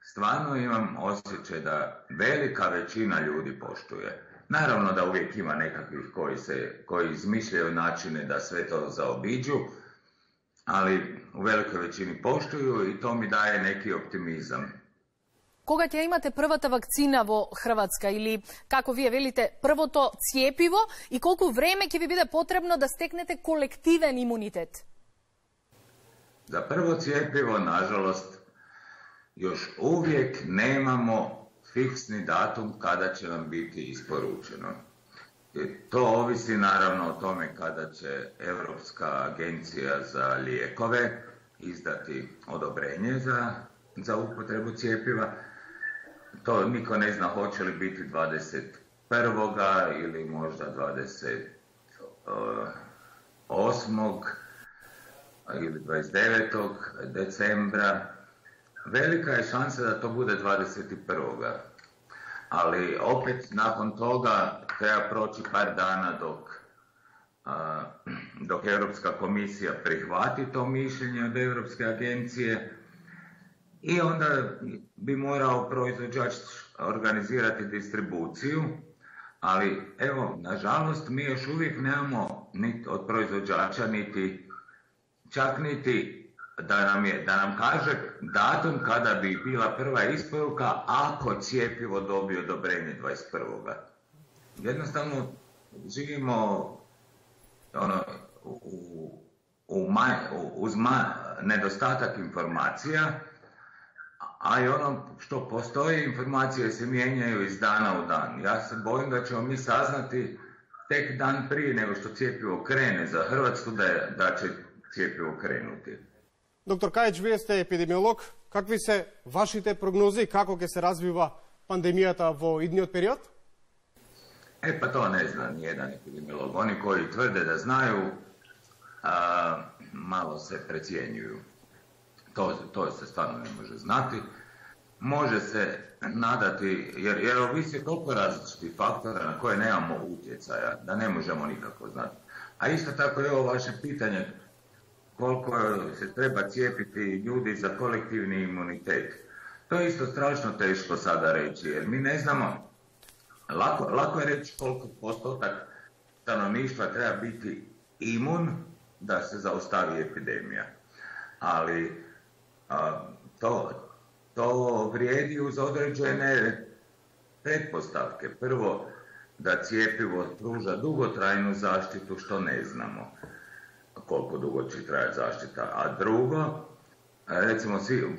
Stvarno imam osjećaj da velika većina ljudi poštuje. Naravno da uvijek ima nekakvih koji, se, koji izmišljaju načine da sve to zaobiđu, ali u velikoj većini poštuju i to mi daje neki optimizam. Кога ќе имате првата вакцина во Хрватска или, како вие велите, првото цијепиво и колку време ќе ви биде потребно да стекнете колективен имунитет? За прво цијепиво, nažalost, još uvijek nemamo fiksni datum kada će nam biti isporučeno. To ovisi naravno o tome kada će Europska agencija za lijekove izdati odobrenje za, za upotrebu cijepiva. To niko ne zna hoće li biti dvadeset prvoga ili možda dvadeset osmog ili dvadeset devetog decembra. Velika je šansa da to bude dvadeset prvoga Ali opet nakon toga treba proći par dana dok, a, dok Europska komisija prihvati to mišljenje od Europske agencije i onda bi morao proizvođač organizirati distribuciju, ali evo, nažalost, mi još uvijek nemamo niti od proizvođača niti čak niti da nam, je, da nam kaže datum kada bi bila prva isporuka ako cijepivo dobije odobrenje dvadeset prvoga Jednostavno živimo ono, u, u maj, uz ma, nedostatak informacija, a i ono što postoji, informacije se mijenjaju iz dana u dan. Ja se bojim da ćemo mi saznati tek dan prije nego što cijepivo krene za Hrvatsku da, je, da će cijepivo krenuti. Доктор Кајич, вие сте епидемиолог. Какви се вашите прогнози и како ќе се развива пандемијата во идниот период? E pa to ne zna nijedan epidemiolog. Oni koji tvrde da znaju, a, malo se precijenjuju. To, to se stvarno ne može znati. Može se nadati, jer, jer ovisi toliko različitih faktora na koje nemamo utjecaja, da ne možemo nikako znati. A isto tako je ovo vaše pitanje, koliko se treba cijepiti ljudi za kolektivni imunitet. To je isto strašno teško sada reći, jer mi ne znamo, lako, lako je reći koliko postotak stanovništva treba biti imun da se zaustavi epidemija. Ali a, to, to vrijedi uz određene pretpostavke. Prvo, da cijepivo pruža dugotrajnu zaštitu, što ne znamo koliko dugo će trajati zaštita. A drugo, recimo svi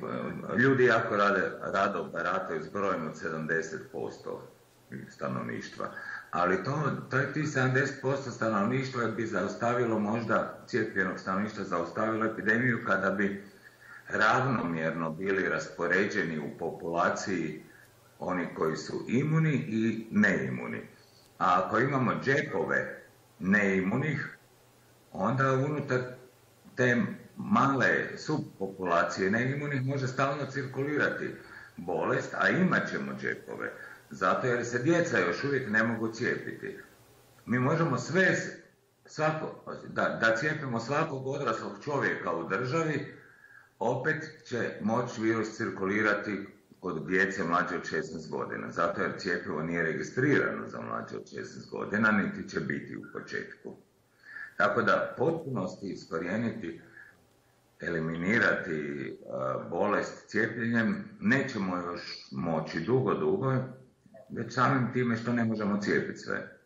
ljudi jako rade, rado barataju s brojem od sedamdeset posto stanovništva. Ali to, to je ti sedamdeset posto stanovništva bi zaustavilo možda, cijepljenog stanovništva zaustavilo epidemiju kada bi ravnomjerno bili raspoređeni u populaciji oni koji su imuni i neimuni. A ako imamo džepove neimunih, onda unutar te male subpopulacije neimunih može stalno cirkulirati bolest, a imat ćemo džepove, zato jer se djeca još uvijek ne mogu cijepiti. Mi možemo sve, svako, da, da cijepimo svakog odraslog čovjeka u državi, opet će moći virus cirkulirati kod djece mlađe od šesnaest godina, zato jer cijepivo nije registrirano za mlađe od šesnaest godina, niti će biti u početku. Tako da potpunosti iskorijeniti, eliminirati uh, bolest cijepljenjem nećemo još moći dugo, dugo, već samim time što ne možemo cijepiti sve.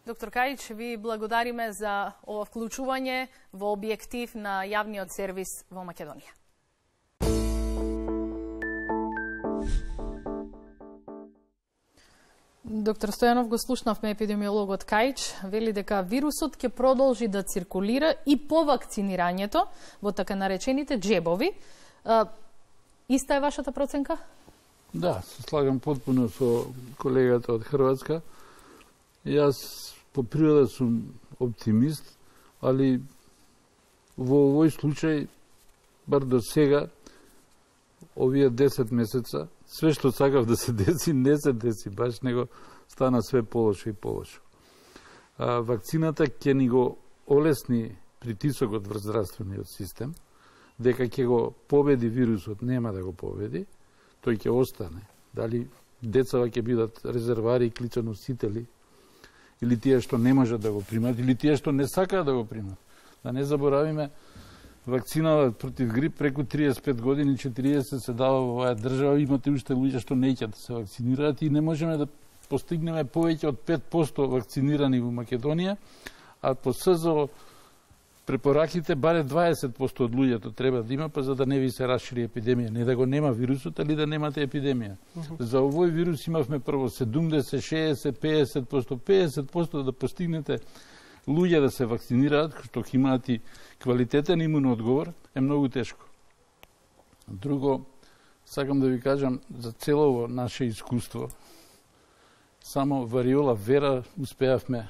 Доктор Кајич, ви благодариме за ова вклучување во објектив на јавниот сервис во Македонија. Доктор Стојанов, го слушнавме епидемиологот Кајч, вели дека вирусот ќе продолжи да циркулира и по вакцинирањето во така наречените джебови. Иста е вашата проценка? Да, се слагам потпуно со колегата од Хрватска. Јас по природа сум оптимист, али во овој случај, бар до сега, овие десет месеца, све што сакав да се деси, не се деси баш, него стана све полошо и полошо. А, вакцината ќе ни го олесни притисокот врз здравствениот систем, дека ќе го победи вирусот, нема да го победи, тој ќе остане. Дали децава ќе бидат резервари и кличоносители, или тие што не можат да го примат, или тие што не сакаат да го примат. Да не заборавиме, вакцина против грип преку триесет и пет години, четириесет се дава во оваа држава, имате уште луѓе што не ќе да се вакцинираат и не можеме да постигнеме повеќе од пет проценти вакцинирани во Македонија, а по СЗО препораките баре дваесет проценти од луѓето треба да има, па за да не ви се расшири епидемија, не да го нема вирусот, али да немате епидемија. Uh -huh. За овој вирус имавме прво седумдесет, шеесет, пеесет проценти, пеесет проценти да постигнете луѓе да се вакцинираат, што ќе имаат и квалитетен имун одговор, е многу тешко. Друго, сакам да ви кажам за целово наше искуство. Само вариола вера успеавме.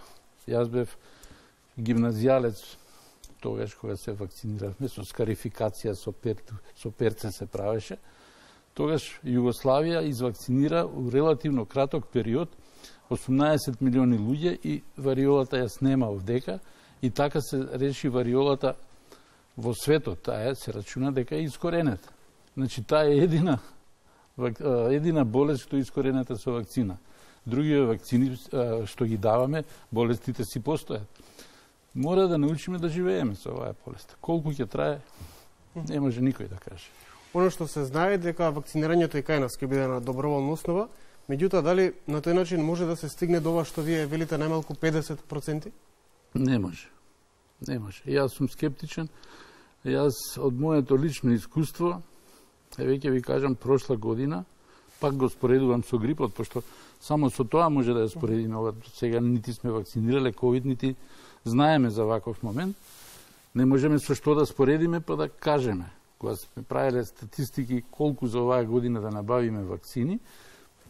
Јас бев гимназијалец тогаш кога се вакциниравме со скарификација со перце, со перце се правеше. Тогаш Југославија извакцинира у релативно краток период осумнаесет милиони луѓе и вариолата ја снема овдека и така се реши вариолата во светот. Таа се рачуна дека е искоренета. Значи таа е едина едина болест што е искоренета со вакцина. Другите вакцини што ги даваме, болестите си постојат. Мора да научиме да живееме со оваа болест. Колку ќе трае, не може никој да каже. Оно што се знае дека вакцинирањето и кај нас ќе биде на доброволна основа, меѓутоа дали на тој начин може да се стигне до ова што вие велите најмалку педесет проценти? Не може. Не може. Јас сум скептичен. Јас од моето лично искуство, е веќе ви кажам, прошла година, пак го споредувам со грипот, пошто само со тоа може да ја споредиме. Сега нити сме вакцинирале ковид, нити знаеме за ваков момент. Не можеме со што да споредиме, па да кажеме. Кога сме правиле статистики колку за оваа година да набавиме вакцини,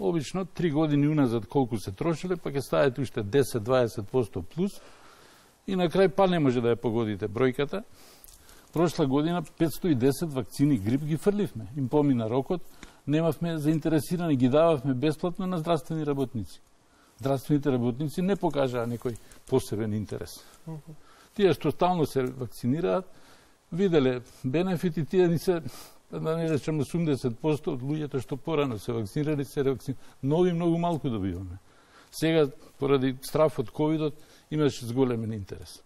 обично три години уназад колку се трошиле, па ќе ставите уште десет до дваесет проценти плюс и на крај па не може да ја погодите бројката. Прошла година петстотини и десет вакцини грип ги фрливме. Им помина рокот, немавме заинтересирани, ги дававме бесплатно на здравствени работници. Здравствените работници не покажаа некој посебен интерес. Uh -huh. Тие што стално се вакцинираат, виделе бенефити, тие ни се, да не речем, осумдесет проценти од луѓето што порано се вакцинирали, се ревакцинирали. Нови многу малку добиваме. Сега, поради страф од ковидот, имаше зголемен интерес.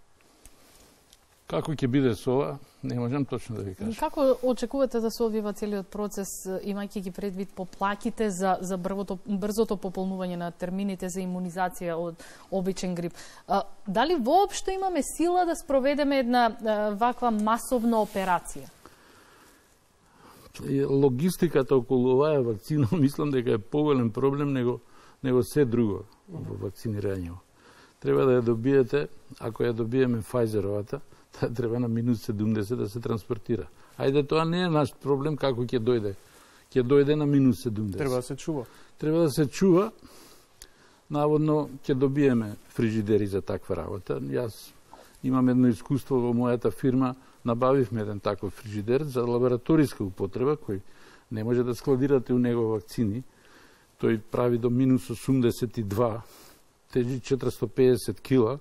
Како ќе биде со ова, не можам точно да ви кажам. Како очекувате да се одвива целиот процес, имајќи ги предвид поплаките за, за брвото, брзото пополнување на термините за имунизација од обичен грип? А, дали воопшто имаме сила да спроведеме една а, ваква масовна операција? Логистиката околу оваа вакцина, мислам дека е поголем проблем него, него се друго во вакцинирањето. Треба да ја добиете, ако ја добиеме Pfizerovата, таа треба на минус седумдесет да се транспортира. Ајде, тоа не е наш проблем како ќе дојде. Ќе дојде на минус седумдесет. Треба да се чува. Треба да се чува. Наводно ќе добиеме фрижидери за таква работа. Јас имам едно искуство во мојата фирма, набавивме еден таков фрижидер за лабораториска употреба, кој не може да складирате у него вакцини. Тој прави до минус осумдесет и два, тежи четиристотини и педесет кила,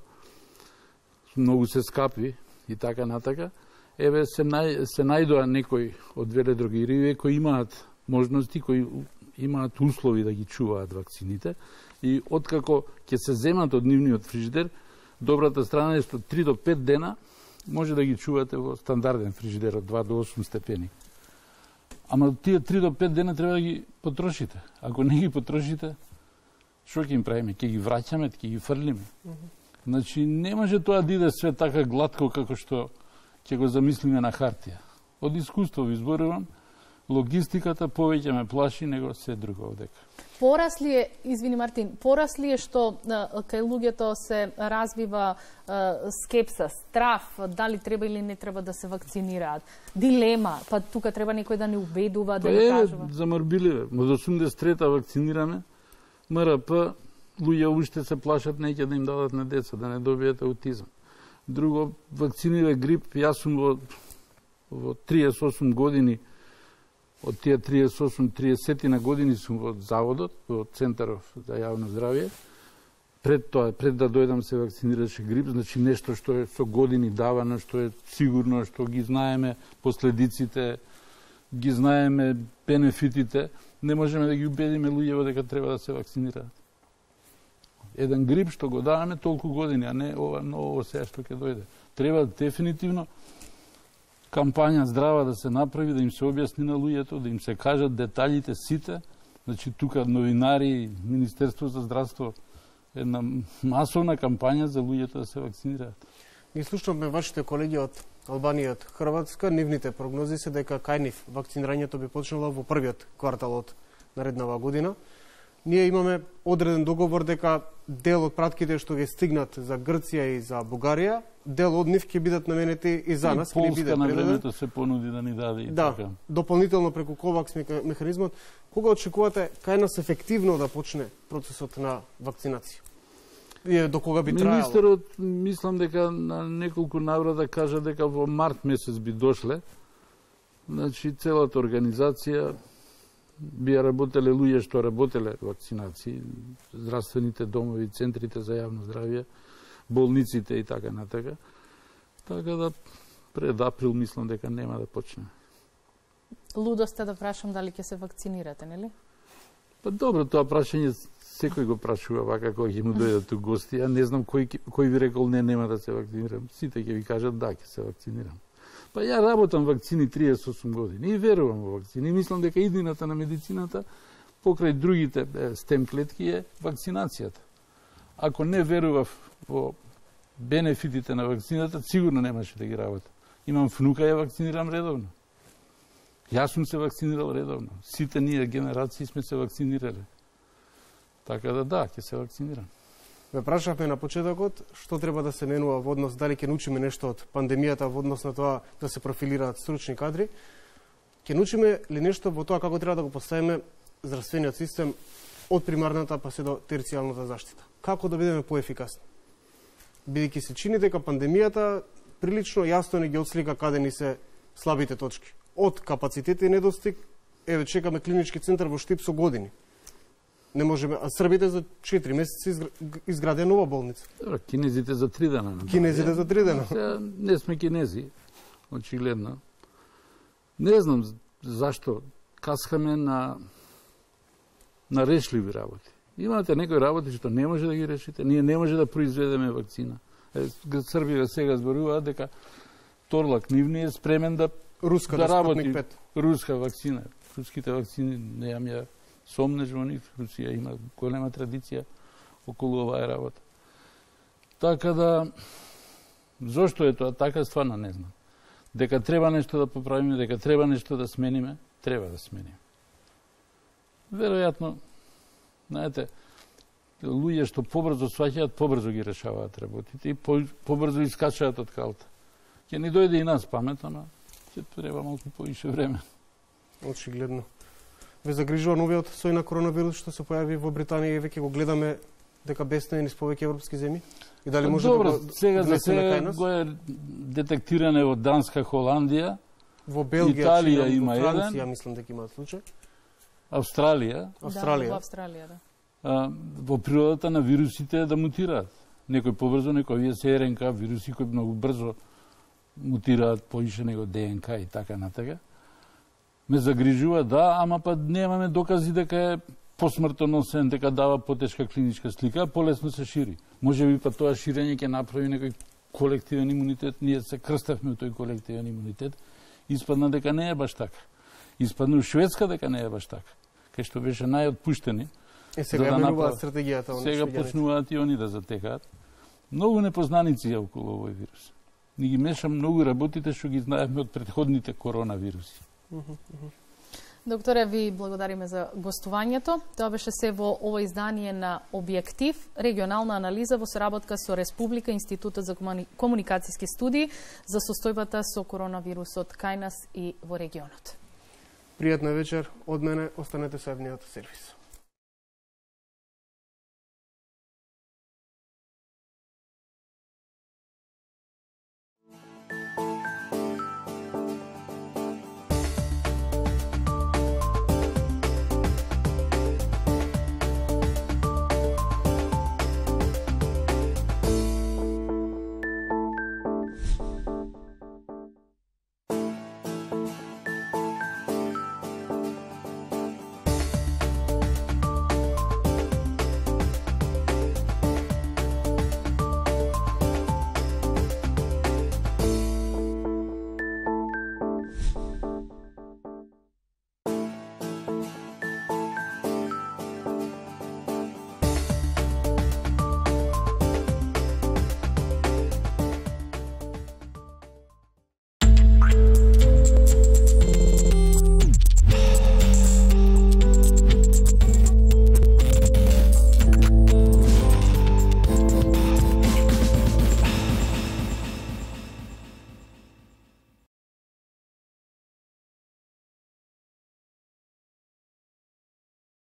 многу се скапи и така натака. Еве се, нај, се најдоа некои од веледрогерии кои имаат можности, кои имаат услови да ги чуваат вакцините и откако ќе се земат од нивниот фрижидер, добрата страна е што три до пет дена може да ги чувате во стандарден фрижидер од два до осум степени. Ама тие три до пет дена треба да ги потрошите. Ако не ги потрошите, што ќе им правиме? Ќе ги враќаме, ќе ги фрлиме. Uh -huh. Значи, не може тоа да иде све така гладко како што ќе го замислиме на хартија. Од искуство ви зборувам, Логистиката повеќе ме плаши него се друго овдека. Порасли е, извини Мартин, порасли е што кај луѓето се развива а, скепса, страф, дали треба или не треба да се вакцинираат, дилема, па тука треба некој да не убедува, да не кажува. Е, замрбиливе, од осумдесет и трета вакцинираме, МРП, луѓе уште се плашат, неќе да им дадат на деца, да не добијат аутизам. Друго, вакцинира грип, јас сум во, во триесет и осум години, од тие триесет и осум триесет на години сум во заводот, во Центаров за јавно здравје. Пред тоа, пред да дојдам се вакцинираше грип, значи нешто што е со години давано, што е сигурно, што ги знаеме последиците, ги знаеме бенефитите, не можеме да ги убедиме луѓето дека треба да се вакцинираат. Еден грип што го даваме толку години, а не ова ново сега што ќе дојде. Треба дефинитивно кампања здрава да се направи, да им се објасни на луѓето, да им се кажат детаљите сите. Значи тука новинари, Министерство за здравство, една масовна кампања за луѓето да се вакцинираат. Ги слушнавме вашите колеги од Албанија и од Хрватска, нивните прогнози се дека кај нив вакцинирањето би почнало во првиот квартал од нареднава година. Ние имаме одреден договор дека дел од пратките што ги стигнат за Грција и за Бугарија, дел од нив ќе бидат наменети и за нас, ќе ни биде предаден. Полска на времето предаден. се понуди да ни даде и Да, така. дополнително преку ковакс механизмот. Кога очекувате кај нас ефективно да почне процесот на вакцинација? И до кога би трајало? Министерот, мислам дека на неколку наврата кажа дека во март месец би дошле. Значи, целата организација би работеле луѓе што работеле вакцинации, здравствените домови, центрите за јавно здравје, болниците и така натака. Така да пред април мислам дека нема да почне. Лудост е да прашам дали ќе се вакцинирате, нели? Па добро, тоа прашање секој го прашува вака кога ќе му дојдат ту гости. Ја не знам кој кој ви рекол не нема да се вакцинирам. Сите ќе ви кажат да, ќе се вакцинирам. Па ја работам вакцини триесет и осум години и верувам во вакцини. Мислам дека иднината на медицината покрај другите стем клетки е вакцинацијата. Ако не верував во бенефитите на вакцината, сигурно немаше да ги работам. Имам внука, ја вакцинирам редовно. Јас сум се вакцинирал редовно. Сите ние генерации сме се вакцинирале. Така да да, ќе се вакцинирам. Ве прашавме на почетокот што треба да се менува во однос, дали ќе научиме нешто од пандемијата во однос на тоа да се профилираат стручни кадри. Ќе научиме ли нешто во тоа како треба да го поставиме здравствениот систем од примарната па се до терцијалната заштита? Како да бидеме поефикасни? Бидејќи се чини дека пандемијата прилично јасно не ги отслика каде ни се слабите точки. Од капацитет и недостиг, еве чекаме клинички центар во Штип со години. Не можеме, а србите за четири месеци изграде нова болница. Добро, кинезите за три дена. Кинезите за три дена. Сега не сме кинези, очигледно. Не знам зашто каскаме на на решливи работи. Имате некои работи што не може да ги решите. Ние не може да произведеме вакцина. Србија сега зборуваат дека Торлак нивни е спремен да Руска да работи пет. руска вакцина. Руските вакцини неам ја сомнеш во нив. Русија има голема традиција околу оваа работа. Така да, зошто е тоа така, стварно не знам. Дека треба нешто да поправиме, дека треба нешто да смениме, треба да смениме. Веројатно, знаете, луѓе што побрзо сваќаат, побрзо ги решаваат работите и побрзо искачаат од калта. Ќе ни дојде и нас памет, ама ќе треба малку повише време. Очигледно. Ве загрижува новиот сој на коронавирус што се појави во Британија и веќе го гледаме дека бесне низ повеќе европски земји? И дали може Добро, да го сега за внесеме кај сега нас? го е детектиране во Данска, Холандија, Во Белгија, Италија Чина, има во Франција, еден. мислам дека имаат случај. Австралија. Австралија. Да, во Австралија, да. А, во природата на вирусите е да мутираат. Некој побрзо, некој овие се РНК вируси кои многу брзо мутираат поише него ДНК и така натака. Ме загрижува, да, ама па немаме докази дека е посмртоносен, дека дава потешка клиничка слика, полесно се шири. Може би па тоа ширење ќе направи некој колективен имунитет, ние се крстевме у тој колективен имунитет, испадна дека не е баш така. Испадна у Шведска дека не е баш така, кај што беше најотпуштени. Е, сега за да ја менуваат направат- стратегијата. он Сега швеѓаните. почнуваат и они да затекаат. Многу непознаници е околу овој вирус. Ни ги меша многу работите што ги знаевме од претходните коронавируси. Докторе, ви благодариме за гостувањето. Тоа беше се во ово издание на Објектив, регионална анализа во соработка со Республика, Институтот за комуникацијски студии за состојбата со коронавирусот кај нас и во регионот. Пријатна вечер од мене, останете со Евниот сервис.